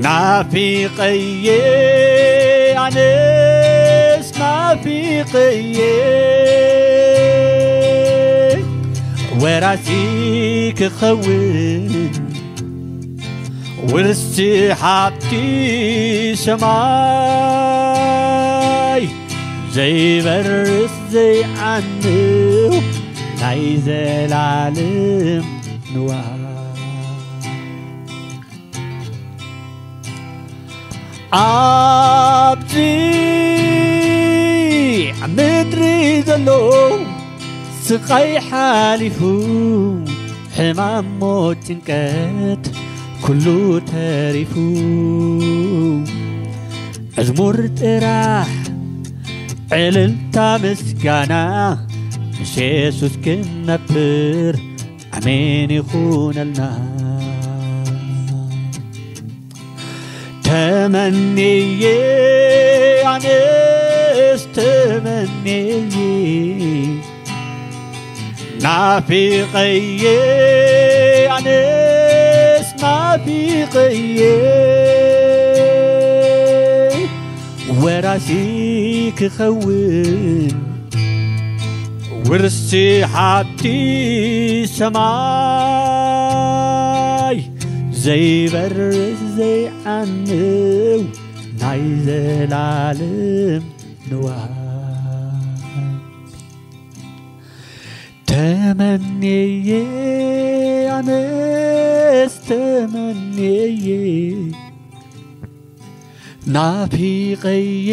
ናፊቐየ፣ ኣነስ ናፊቐየ፣ ወራሲ ክኸውን፣ ውርሲ ሃብቲ ሰማይ፣ ዘይበርስ ዘይዓንው ናይ ዘላለም ንዋይ። ኣብዚ ምድሪ ዘሎ ስቓይ ሓሊፉ፣ ሕማም፣ ሞት፣ ጭንቀት ኩሉ ተሪፉ፣ መዝሙር ጥራሕ፣ ዕልልታ፣ ምስጋና፣ ምስ የሱስ ክንነብር፣ ኣሜን ይኹነልና። ተመንየ፣ ኣነስ ተመንየ፣ ናፊቐየ፣ ኣነስ ናፊቐየ፣ ወራሲ ክኸውን፣ ውርሲ ሃብቲ ሰማይ፣ ዘይበርስ ዘይዓንው ናይ ዘላለም ንዋይ። ተመንየ፣ ኣነስ ተመንየ፣ ናፊቐየ፣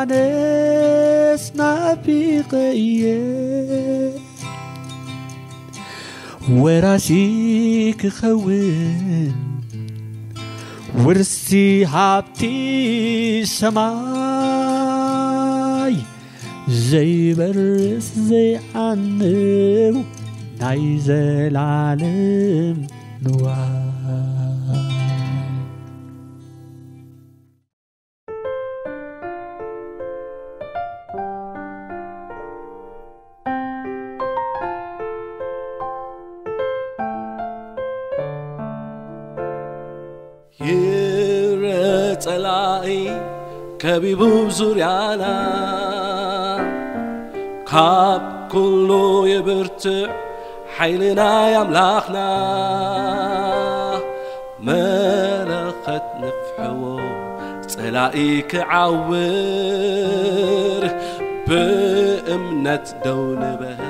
ኣነስ ናፊቐየ፣ ወራሲ ክኸውን፣ ውርሲ ሃብቲ ሰማይ፣ ዘይበርስ ዘይዓንው ናይ ዘላለም ንዋይ። ይረ ጸላኢ ከቢቡ ዙርያና፣ ካብ ኩሉ የብርትዕ ሓይሊ ናይ ኣምላኽና። መለኸት ንፍሕዎ ጸላኢ ክዓውር፣ ብእምነት ደው ንበል።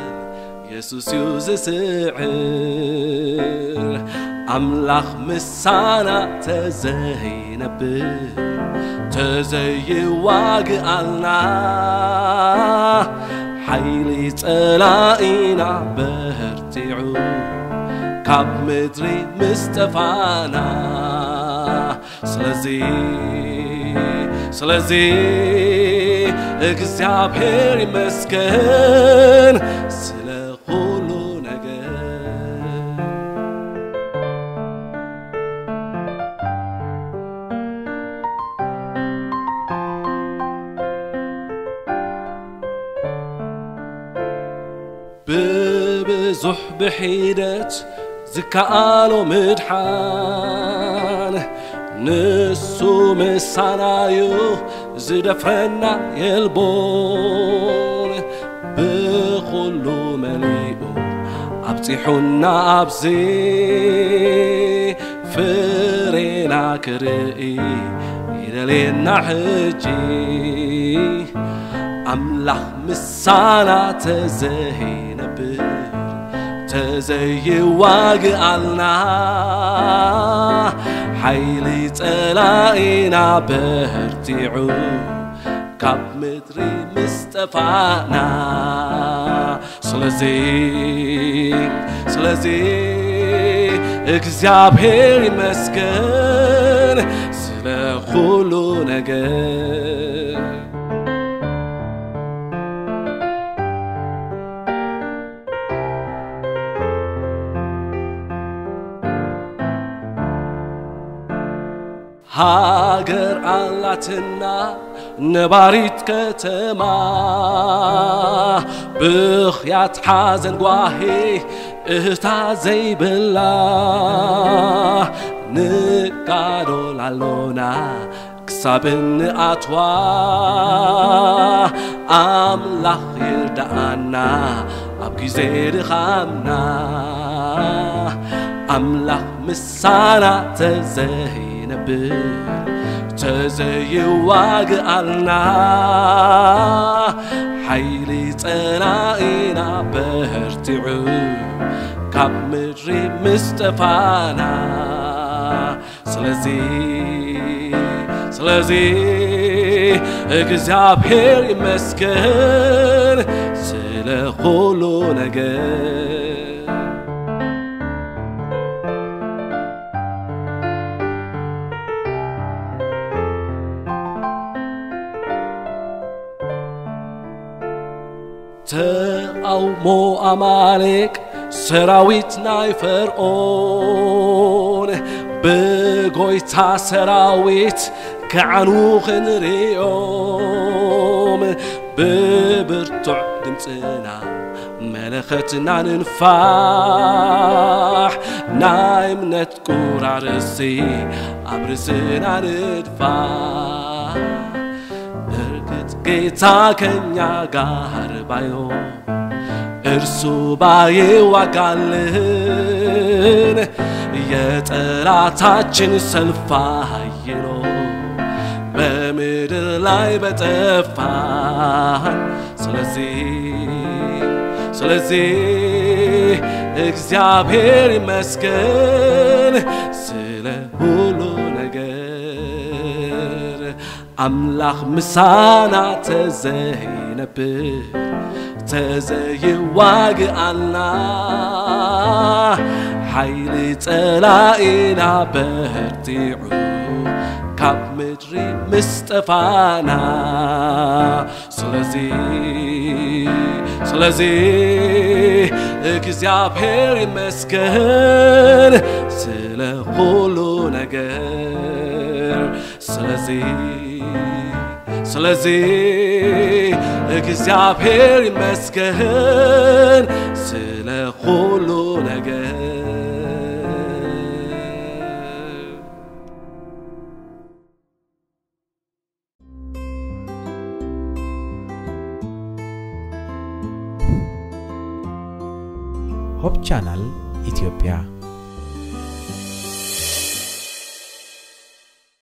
የሱስ እዩ ዝስዕር፣ ኣምላኽ ምሳና ተዘይነብር፣ ተዘይዋግኣልና፣ ሓይሊ ጸላኢና በርቲዑ ካብ ምድሪ ምስ ጠፋና። ስለዚ ስለዚ እግዚኣብሔር ይመስገን ስለ ኩሉ ነገር። ብብዙሕ ብሒደት ዝከኣሎ ምድሓን ንሱ ምሳናዩ ዝደፍረና የልቦን። ብኹሉ መሊኡ ኣብጺሑና ኣብዚ ፍሬና ክርኢ ይደልየና ሕጂ። ኣምላኽ ምሳና ተዘይነብር ተዘይዋግኣልና ሓይሊ ጸላኢና በርቲዑ ካብ ምድሪ ምስ ጠፋና። ስለዚ ስለዚ እግዚኣብሔር ይመስገን ስለ ኩሉ ነገር። ሃገር ኣላትና ነባሪት ከተማ፣ ብኽያት ሓዘን ጓሂ እህታ ዘይብላ። ንጋዶል ኣሎና ክሳብ እንኣትዋ፣ ኣምላኽ ይርድኣና ኣብ ግዜ ድኻምና። ኣምላኽ ምሳና ተዘይነብር ተዘይዋግኣልና፣ ሓይሊ ጸላኢና በርቲዑ ካብ ምድሪ ምስ ጠፋና። ስለዚ ስለዚ እግዚኣብሔር ይመስገን ስለ ኩሉ ነገር። ተቃውሞ ኣማሌቅ ሰራዊት ናይ ፈርዖን ብጎይታ ሰራዊት ክዓኑ ክንርእዮም፣ ብብርቱዕ ድምፅና መለኸትና ንንፋሕ፣ ናይ እምነት ቁራርሲ ኣብ ርእስና ንድፋሕ። እርግጥ ጌታ ከኛ ጋር ባይኖር፣ እርሱ ባይዋጋልን፣ የጠላታችን ሰልፍ አይሎ በምድር ላይ በጠፋን። ስለዚህ ስለዚህ እግዚአብሔር ይመስገን ስለ ሁሉ ነገር። ኣምላኽ ምሳና ተዘይነብር ተዘይዋግኣልና፣ ሓይሊ ጸላኢና በርቲዑ ካብ ምድሪ ምስ ጠፋና። ስለዚ ስለዚ እግዚኣብሔር ይመስገን ስለ ኩሉ ነገር። ስለዚ ስለዚ እግዚኣብሔር ይመስገን ስለ ኩሉ ነገር። ሆፕ ቻናል ኢትዮጵያ።